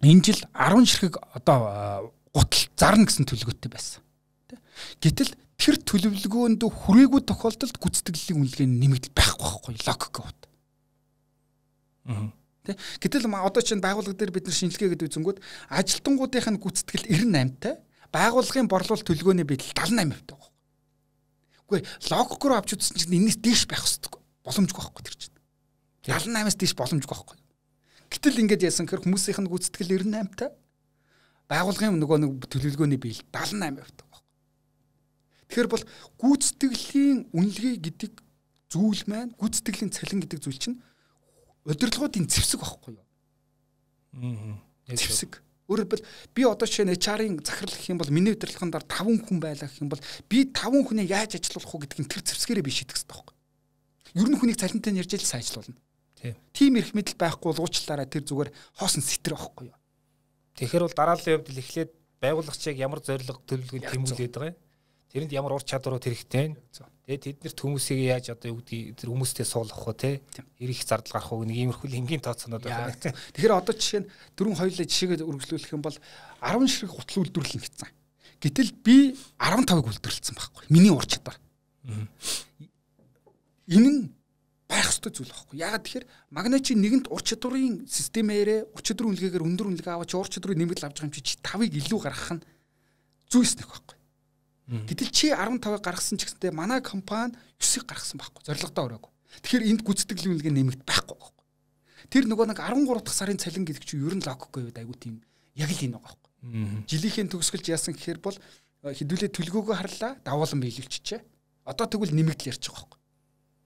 энэ жил арван ширхэг одоо гутал зарна гэсэн төлөвлөгөөтэй байсан. Тэ. Гэтэл тэр төлөвлөгөөнд хүрээгүй тохиолдолд гүйцэтгэлийн үнэлгээний нэмэгдэл байхгүй байхгүй логик гот. Аа. Тэ. Гэтэл одоо чинь байгууллага дээр бид нар шинжилгээ гэдэг үзэнгүүд ажилтнуудынх нь гүйцэтгэл девяносто восемь тай, байгууллагын борлуулалт төлөвлөгөөний байдал семьдесят восемь тай байгаа. Үгүй логикоор авч үзсэн чинь энэс дээш байх хэрэгтэй. Боломжгүй байхгүй тэр чинь. семьдесят восемь-аас дээш боломжгүй байхгүй. Гэтэл ингэж яасан гэхээр хүмүүсийнх нь гүйцэтгэл девяносто восемь тай, байгууллагын нөгөө нэг төлөвлөгөөний биел семьдесят восемь тай. Тэгэхээр бол гүйцэтгэлийн үнэлгээ гэдэг зүйл маань гүйцэтгэлийн цалин гэдэг зүйл чинь удирдлагуудын зэвсэг байхгүй юу? Аа. Зэвсэг. Өөрөөр хэлбэл би одоо жишээ нь эйч ар-ын захирал гэх юм бол миний удирдлагын дараа таван хүн байлаа гэх юм бол би таван хүнээ яаж ажилуулах вэ гэдгийг тэр зэвсгээрээ би шийдэх хэрэгтэй байхгүй юу? Ер нь хүнийг цалинтай ярьж л сайн ажилуулна. Тийм. Тим эрх мэдэл байхгүй бол уучлаарай тэр зүгээр хоосон сэтэр байхгүй юу? Тэгэхээр бол дарааллын хувьд л эхлээд байгууллагчийг ямар зорилго төлөвлөгөөнд тэмүүлээд байгаа юм? Тэрэнд ямар ур чадварууд хэрэгтэй вэ? Тэгээд тэднэрт хүмүүсийг яаж одоо юу гэдэг тэр хүмүүстэй суулгах вэ те? Ирэх зардал гарах уу нэг иймэрхүү энгийн тооцоонууд байна. Тэгэхээр одоо жишээ нь дөрвөн хоёулаа жишээгээ үргэлжлүүлэх юм бол арван ширхэг гутал үйлдвэрлэн гэсэн. Гэтэл би арван тавыг үйлдвэрлэсэн байхгүй. Миний ур чадвар. Энэ нь байх ёстой зүйл байхгүй. Яагаад тэгэхээр магначи нэгэнт ур чадварын системээрээ ур чадварын үнэлгээгээр өндөр үнэлгээ аваад чи ур чадварын нэмэгдэл авч байгаа юм чи тавыг илүү гаргах нь зүйс нэг байхгүй. Гэтэл чи арван тавыг гаргасан ч гэсэндээ манай компани девяностыг гаргасан байхгүй. Зорилготой өрөөгүй. Тэгэхээр энд гүйцэтгэлийн үнэлгээ нэмэгд байхгүй байхгүй. Тэр нөгөө нэг арван гурав дахь сарын цалин гэдэг чинь ер нь логикгүй байд айгуу тийм яг л энэ байгаа байхгүй. Жилийнхээ төгсгөлж яасан гэхээр бол хэдүүлээ төлгөөгөө харлаа давуулан биелүүлчихэ. Одоо тэгвэл нэмэгдэл ярьж байгаа байхгүй.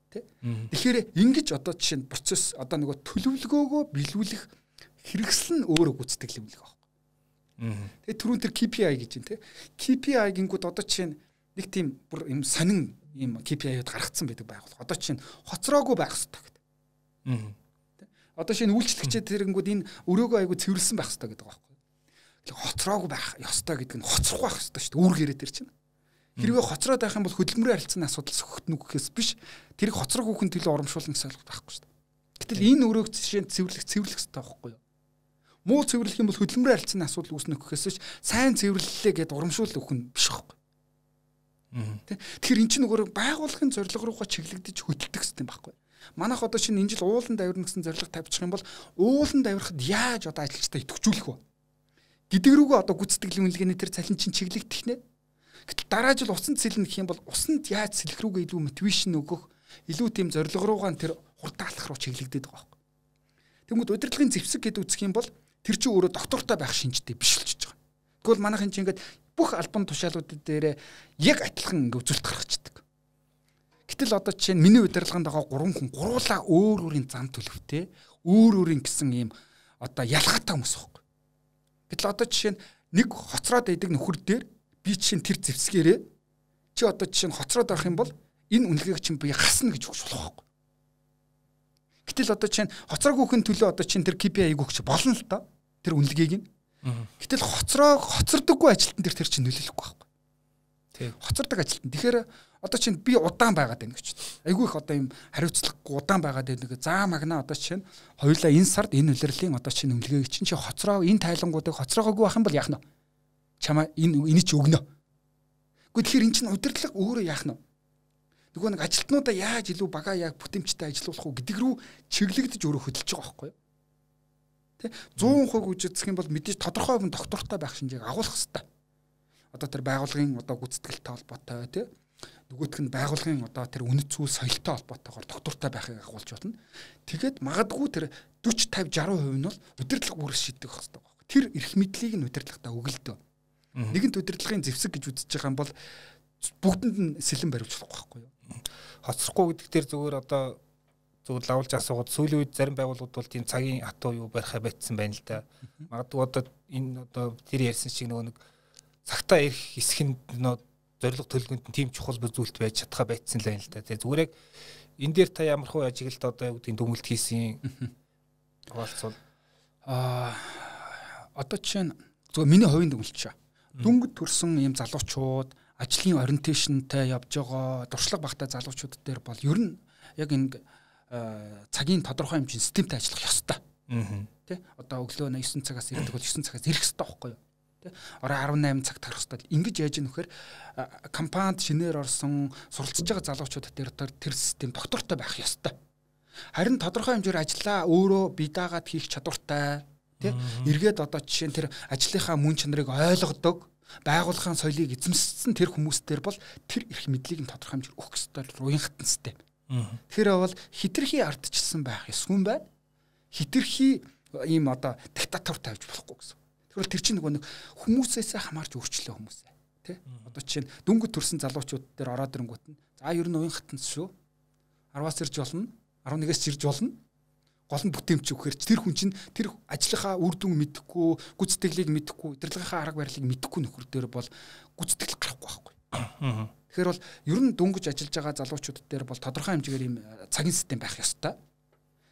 Тэ? Тэгэхээр ингэж одоо жишээ нь процесс одоо нөгөө төлөвлөгөөгөө биелүүлэх хэрэгсэл нь өөрөө гүйцэтгэлийн үнэлгээ байна. Тэгээ түрүүн тэр кей пи ай гэж байна те. кей пи ай гингүүд одоо чинь нэг тийм бүр юм сонин юм кей пи ай-ууд гаргацсан байдаг байгууллага. Одоо чинь хоцроогүй байх хэрэгтэй гэдэг. Аа. Одоо шинэ үйлчлэгчид тэрэнгүүд энэ өрөөгөө айгу цэвэрлсэн байх хэрэгтэй гэдэг байгаа байхгүй. Хоцроогүй байх ёстой гэдэг нь хоцрохгүй байх хэрэгтэй шүү дээ. Үүргээрээ тэр чинь. Хэрвээ хоцроод байх юм бол хөдөлмөрийн харилцааны асуудал сөхөтнө гэхээс биш тэрийг хоцроогүй хүн төлөө урамшуулна гэсэн ойлголт байхгүй шүү дээ. Гэтэл энэ өрөөг жишээ нь цэвэрлэх цэвэрлэх хэрэгтэй байхгүй юу? Муу цэвэрлэх юм бол хөдөлмөрийн харилцааны асуудал үүснэ гэхээс биш сайн цэвэрлэлээ гэд урамшуул өгөх нь биш байхгүй. Тэгэхээр эн чинь нөгөө байгууллагын зорилго руугаа чиглэгдэж хөдөлдөг систем байхгүй. Манайх одоо шинэ энэ жил уулан давирна гэсэн зорилго тавьчих юм бол уулан давирахад яаж одоо ажилчдаа идэвхжүүлэх вэ? Гэдэг рүүгээ одоо гүйцэтгэлийн үнэлгээний тэр цалин чинь чиглэгдэх нэ. Гэтэл дараа жил усан цэлнэ гэх юм бол усанд яаж сэлэх рүүгээ илүү мотивашн өгөх, илүү тийм зорилго руугаа тэр хурдаалах руу чиглэгдээд байгаа байхгүй. Тэгмэд удирдлагын зэвсэг гэдэг үзэх юм бол тэр чинь өөрөө доктортой байх шинжтэй биш л ч байгаа. Тэгвэл манайхын чинь ингээд бүх албан тушаалуудад дээр яг адилхан ингээд үзүүлэлт гаргацдаг. Гэтэл одоо жишээ нь миний удирдлаганд байгаа гурван хүн гуруулаа өөр өөрийн зам төлөвтэй, өөр өөрийн гэсэн ийм одоо ялгаатай хүмүүс байхгүй. Гэтэл одоо жишээ нь нэг хоцроод байдаг нөхөр дээр би чинь тэр зэвсгээрээ чи одоо жишээ нь хоцроод авах юм бол энэ үнэлгээг чинь би гасна гэж өгч болох байхгүй. Гэтэл одоо чинь хоцроогүй хүн төлөө одоо чинь тэр кей пи ай-г өгч болно л доо. Тэр үнэлгээг нь. Гэтэл хоцроо хоцордоггүй ажилтан дээр тэр чинь нөлөөлөхгүй байхгүй. Тий. Хоцордог ажилтан. Тэгэхээр одоо чинь би удаан байгаад байна гэж. Айгүй их одоо юм хариуцлагагүй удаан байгаад байна. За магнаа одоо чинь хоёулаа энэ сард энэ улирлын одоо чинь үнэлгээг чинь чи хоцроо энэ тайлангуудыг хоцроогоогүй байх юм бол яах нь вэ? Чамаа энэ энийг чи өгнө. Гэхдээ тэгэхээр эн чинь удирдлага өөрөө яах нь вэ? Нөгөө нэг ажилтнуудаа яаж илүү бага яг бүтэмжтэй ажиллуулах уу гэдэг рүү чиглэгдэж өөрөө хөдөлж байгаа байхгүй юу? Тэ сто процент үжигдэх юм бол мэдээж тодорхой хүн доктортой байх шинжээг агуулах хэрэгтэй. Одоо тэр байгууллагын одоо гүйцэтгэлтэй холбоотой тий нөгөөх нь байгууллагын одоо тэр үнэт зүйл соёлтой холбоотойгоор доктортой байхыг агуулж болно. Тэгээд магадгүй тэр forty fifty sixty percent нь бол удирдлага бүрээс шийдэх хэрэгтэй байхгүй. Тэр эрх мэдлийг нь удирдлагатаа өгөлдөө. Нэгэнт удирдлагын зэвсэг гэж үзэж байгаа юм бол бүгдэнд нь сэлэн бариулж болохгүй байхгүй юу? Хоцрохгүй гэдэг дээр зүгээр одоо зүгээр лавлж асуугаад сүүлийн үед зарим байгууллагууд бол тийм цагийн хатуу юу барихаа байтсан байна л да. Магадгүй одоо энэ одоо тэр ярьсан шиг нөгөө нэг цагтаа ирэх хэсэг нь нөө зорилго төлөвлөгөөнд нь тийм чухал зүйлт байж чадхаа байцсан л байна л да. Тэгээ зүгээр яг энэ дээр та ямар хөө ажиглалт одоо юу гэдгийг дүгнэлт хийсэн хуваалцвал аа одоо чинь зөв миний хувийн дүгнэлт шээ. Дүнгид төрсэн ийм залуучууд ажлын ориентейшнтэй явж байгаа дуршлаг багтай залуучууд дээр бол ер нь яг энэ цагийн тодорхой хэмжээний системтэй ажиллах ёстой. Тэ одоо өглөө найман цагаас ирдэг бол найман цагаас ирэх ёстой байхгүй юу? Тэ орой арван найман цагт харах ёстой. Ингэж яаж ийм вэхээр компанид шинээр орсон суралцж байгаа залуучууд дээр тэр систем доктортой байх ёстой. Харин тодорхой хэмжээр ажиллаа өөрөө бие даагаад хийх чадвартай тий эргээд одоо жишээ нь тэр ажлынхаа мөн чанарыг ойлгодог байгууллагын соёлыг эзэмшсэн тэр хүмүүстээр бол тэр эрх мэдлийг нь тодорхой хэмжээр өгөх ёстой уян хатан систем. Тэгэхээр бол хитрхи ардчилсан байх ёсгүй юм байна. Хитрхи ийм одоо диктатур тавьж болохгүй гэсэн. Тэгэхээр тэр чинь нөгөө нэг хүмүүсээсээ хамаарч өөрчлөө хүмүүсээ тий одоо жишээ нь дөнгөж төрсэн залуучууд дээр ороод ирэнгүүт нь за ер нь уян хатан шүү арваас ирж болно арван нэгээс ирж болно гол нь бүтээмч өгөхөр тэр хүн чинь тэр ажлынхаа үр дүн мэдэхгүй гүйцэтгэлийг мэдэхгүй удирдлагынхаа арга барилыг мэдэхгүй нөхөр дээр бол гүйцэтгэл гарахгүй байхгүй. Тэгэхээр бол ер нь дөнгөж ажиллаж байгаа залуучууд дээр бол тодорхой хэмжээгээр ийм цагийн систем байх ёстой.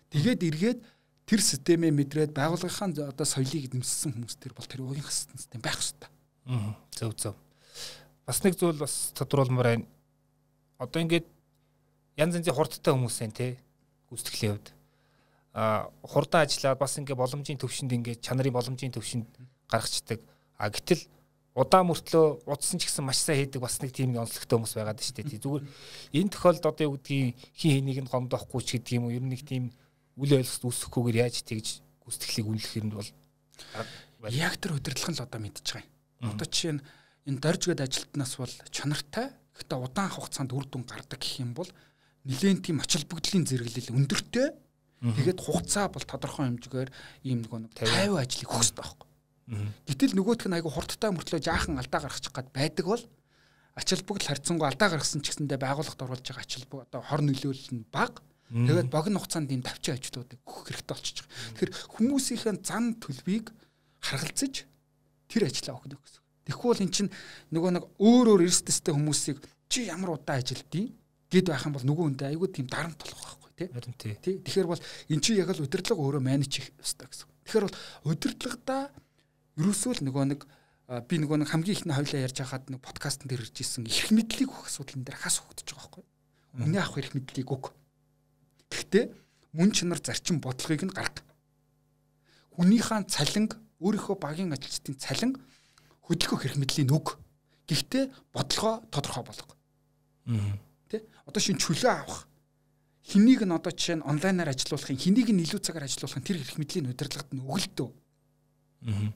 Тэгээд эргээд тэр системээ мэдрээд байгууллагынхаа одоо соёлыг эзэмшсэн хүмүүс төр бол тэр уян хатан систем байх ёстой. Аа зөв зөв. Бас нэг зүйл бас тодруулмаар байна. Одоо ингээд янз янзын хурдтай хүмүүс байна те гүйцэтгэлийн хувьд. А хурдан ажиллаад бас ингээ боломжийн төвшөнд ингээ чанарын боломжийн төвшөнд гаргацдаг. А гэтэл удаан мөртлөө удсан ч гэсэн маш сайн хийдэг бас нэг тийм онцлогтой хүмүүс байгаад байна шүү дээ. Зүгээр энэ тохиолдолд одоо юу гэдгийг хин хэнийг нь гомдоохгүй ч гэдэг юм уу ер нь нэг тийм үл ойлголт үүсэхгүйгээр яаж тэгж гүйцэтгэлийг үнэлэх юм бол яг тэр удирдлага л одоо мэдчихэж байгаа юм. Одоо жишээ нь энэ дорж гээд ажилтнаас бол чанартай гэхдээ удаан хугацаанд үр дүн гардаг гэх юм бол нэлээд тийм ачаал бүгдлийн зэрэглэл өндөртэй. Тэгээд хугацаа бол тодорхой хэмжээгээр ийм нэг тайван ажлыг өгөх хэрэгтэй байхгүй. Гэтэл нөгөөх нь айгу хурдтай мөртлөө жаахан алдаа гаргачих гад байдаг бол ачаал бүгд харьцангуй алдаа гаргасан ч гэсэндээ байгууллагад оруулж байгаа ачаал бүгд одоо хор нөлөөлөл нь бага. Тэгээд богино хугацаанд ийм давчин ажлуудыг өгөх хэрэгтэй болчихж байгаа. Тэгэхээр хүмүүсийн зан төлбийг харгалзаж тэр ажлаа өгнө гэсэн. Тэгэхгүй бол эн чинь нөгөө нэг өөр өөр эрсдэстэй хүмүүсийг чи ямар удаан ажилдیں۔ Гэд байх юм бол нөгөө хүндээ айгүй тийм дарамт болох байхгүй тий. Харин тий. Тэгэхээр бол эн чинь яг л удирдлага өөрөө менеж хийх ёстой гэсэн. Тэгэхээр бол удирдлагадаа ерөөсөө л нөгөө нэг би нөгөө нэг хамгийн ихний хойлоо ярьж байхад нэг подкастн дээр ирж исэн эрх мэдлийг өгөх асуудлын дээр хас хөгдөж байгаа байхгүй. Үнэ авах эрх мэдлийг өг. Гэхдээ мөн чанар зарчим бодлогыг нь гарга. Хүнийхээ цалинг өөрийнхөө багийн ажилчдын цалин хөдөлгөх эрх мэдлийн өг. Гэхдээ бодлогоо тодорхой болго. Аа тэ одоо шин чөлөө авах хэнийг нь одоо жишээ нь онлайнаар ажилуулахын хэнийг нь илүү цагаар ажилуулахын тэр эрх мэдлийн удирдлагад нь өгөлдөө. Аа.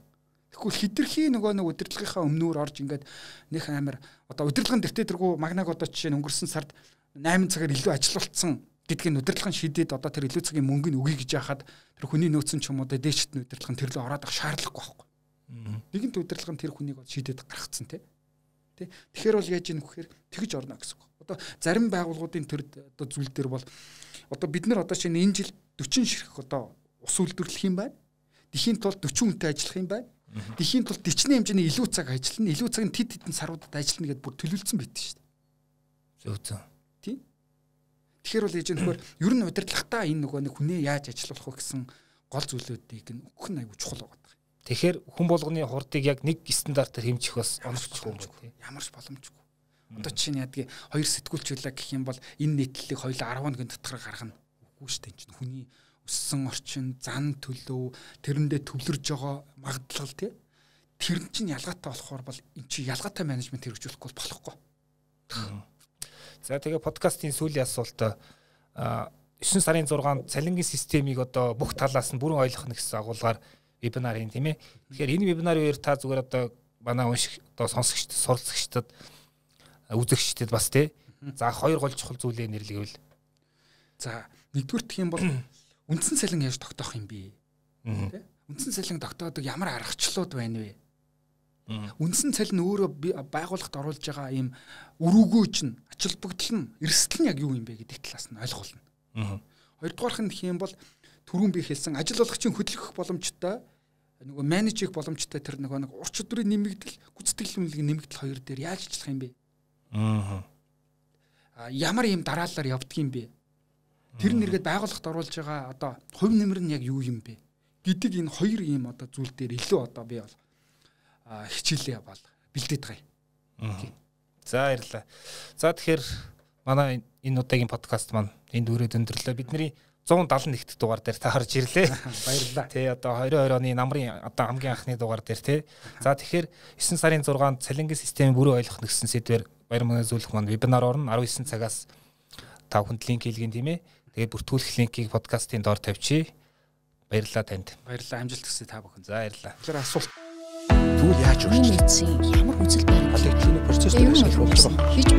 Тэгвэл хитрхи нөгөө нэг удирдлагынхаа өмнөөр орж ингээд нөх амар одоо удирдлагын дэвтэ тэргүй магнаг одоо жишээ нь өнгөрсөн сард найман цагаар илүү ажилуулсан гэдгийг удирдлагын шийдээд одоо тэр илүү цагийн мөнгөний өгье гэж яхад тэр хүний нөөцөн ч юм уу дээшт нь удирдлагын тэр лөө ороод ах шаардлагагүй байхгүй. Аа. Нэгэнт удирдлагын тэр хүнийг бол шийдээд гаргацсан тий. Тэ. Тэгэхээр бол яаж ийм вэхээр тэгж орно гэсэн үг. Одоо зарим байгууллагуудын төр одоо зүйл дээр бол одоо бид нар одоо шинэ энэ жил дөрвөн ширхэг одоо ус үйлдвэрлэх юм байна. Тэхийн тулд дөрвөн хүнтэй ажиллах юм байна. Тэхийн тулд дичний хэмжээний илүү цаг ажиллана. Илүү цаг нь тэд хэдэн саруудад ажиллана гэдээ бүр төлөвлөсөн байт шүү дээ. Зөв зөв. Тийм. Тэгэхээр бол яаж нөхөр ер нь удирдлагатаа энэ нөгөө нэг хүнээ яаж ажиллуулах вэ гэсэн гол зүйлүүдийг нь өгөх нь аюу чухал байгаа. Тэгэхээр хүн болгоны хурдыг яг нэг стандартаар хэмжих бас оновчгүй юм байна. Ямарч боломжгүй. Одоо чинь яадгийн хоёр сэтгүүлчлээ гэх юм бол энэ нийтлэлийг хоёулаа арав хоногийн дотор гаргана. Үгүй шүү дээ. Энэ чинь хүний өссөн орчин, зан төлөв, тэрэндээ төвлөрж байгаа магадлал тий. Тэр чинь ялгаатай болохоор бол эн чинь ялгаатай менежмент хэрэгжүүлэхгүй болохгүй. За тэгээ подкастын сүүлийн асуулт девять сарын зургаанд цалингийн системийг одоо бүх талаас нь бүрэн ойлгох нь гэсэн агуулгаар вебинар хийн тийм ээ. Тэгэхээр энэ вебинарын үеэр та зүгээр одоо манай унших одоо сонсогчд, суралцагчдад үзэгчдэд бас тий. За хоёр гол чухал зүйлээ нэрлэвэл. За нэгдүгээр гэх юм бол үндсэн цалин яаж тогтоох юм бэ? Тий. Үндсэн цалин тогтоодог ямар аргачлалууд байна вэ? Үндсэн цалин өөрөө байгууллагад оруулж байгаа ийм өрөөгөө чинь ачаал бүгдл нь эрсдэл нь яг юу юм бэ гэдэг талаас нь ойлгох болно. Хоёрдугаарх нь гэх юм бол түрүүн би хэлсэн ажилгүйчийн хөдөлгөх боломжтой нөгөө менеж хийх боломжтой тэр нөгөө нэг ур чадврын нэмэгдэл гүйцэтгэл үнэлгээ нэмэгдэл хоёр дээр яаж ажиллах юм бэ? Аа. Ямар юм дараалалаар явдгийм бэ? Тэр нэргээд байгууллагт оруулж байгаа одоо хувь нэмэр нь яг юу юм бэ? Гэдэг энэ хоёр ийм одоо зүйл дээр илүү одоо би бол хичээлээ бол бэлдээд байгаа юм. За баярлалаа. За тэгэхээр манай энэ удаагийн подкаст маань энд өрөөд өндөрлөө. Бидний one seventy-one дугаар дээр та харж ирлээ. Баярлалаа. Тэ одоо twenty twenty оны намрын одоо хамгийн анхны дугаар дээр тий. За тэгэхээр nine сарын sixth-нд цалингийн системийг бүрэн ойлгох гэсэн сэдвээр баяр мөнөө зөвлөх маань вебинар орно. nineteen цагаас та бүхэнд линк хийлгэн тийм ээ. Тэгээд бүртгүүлэх линкийг подкастын доор тавьчих. Баярлалаа танд. Баярлалаа. Амжилт хүсье та бүхэн. За баярлалаа. Тэгэхээр асуулт Тэгвэл яаж вэ? Ямар үзэл баримт? Халигдлын процесс дээр ашиглах болж байгаа.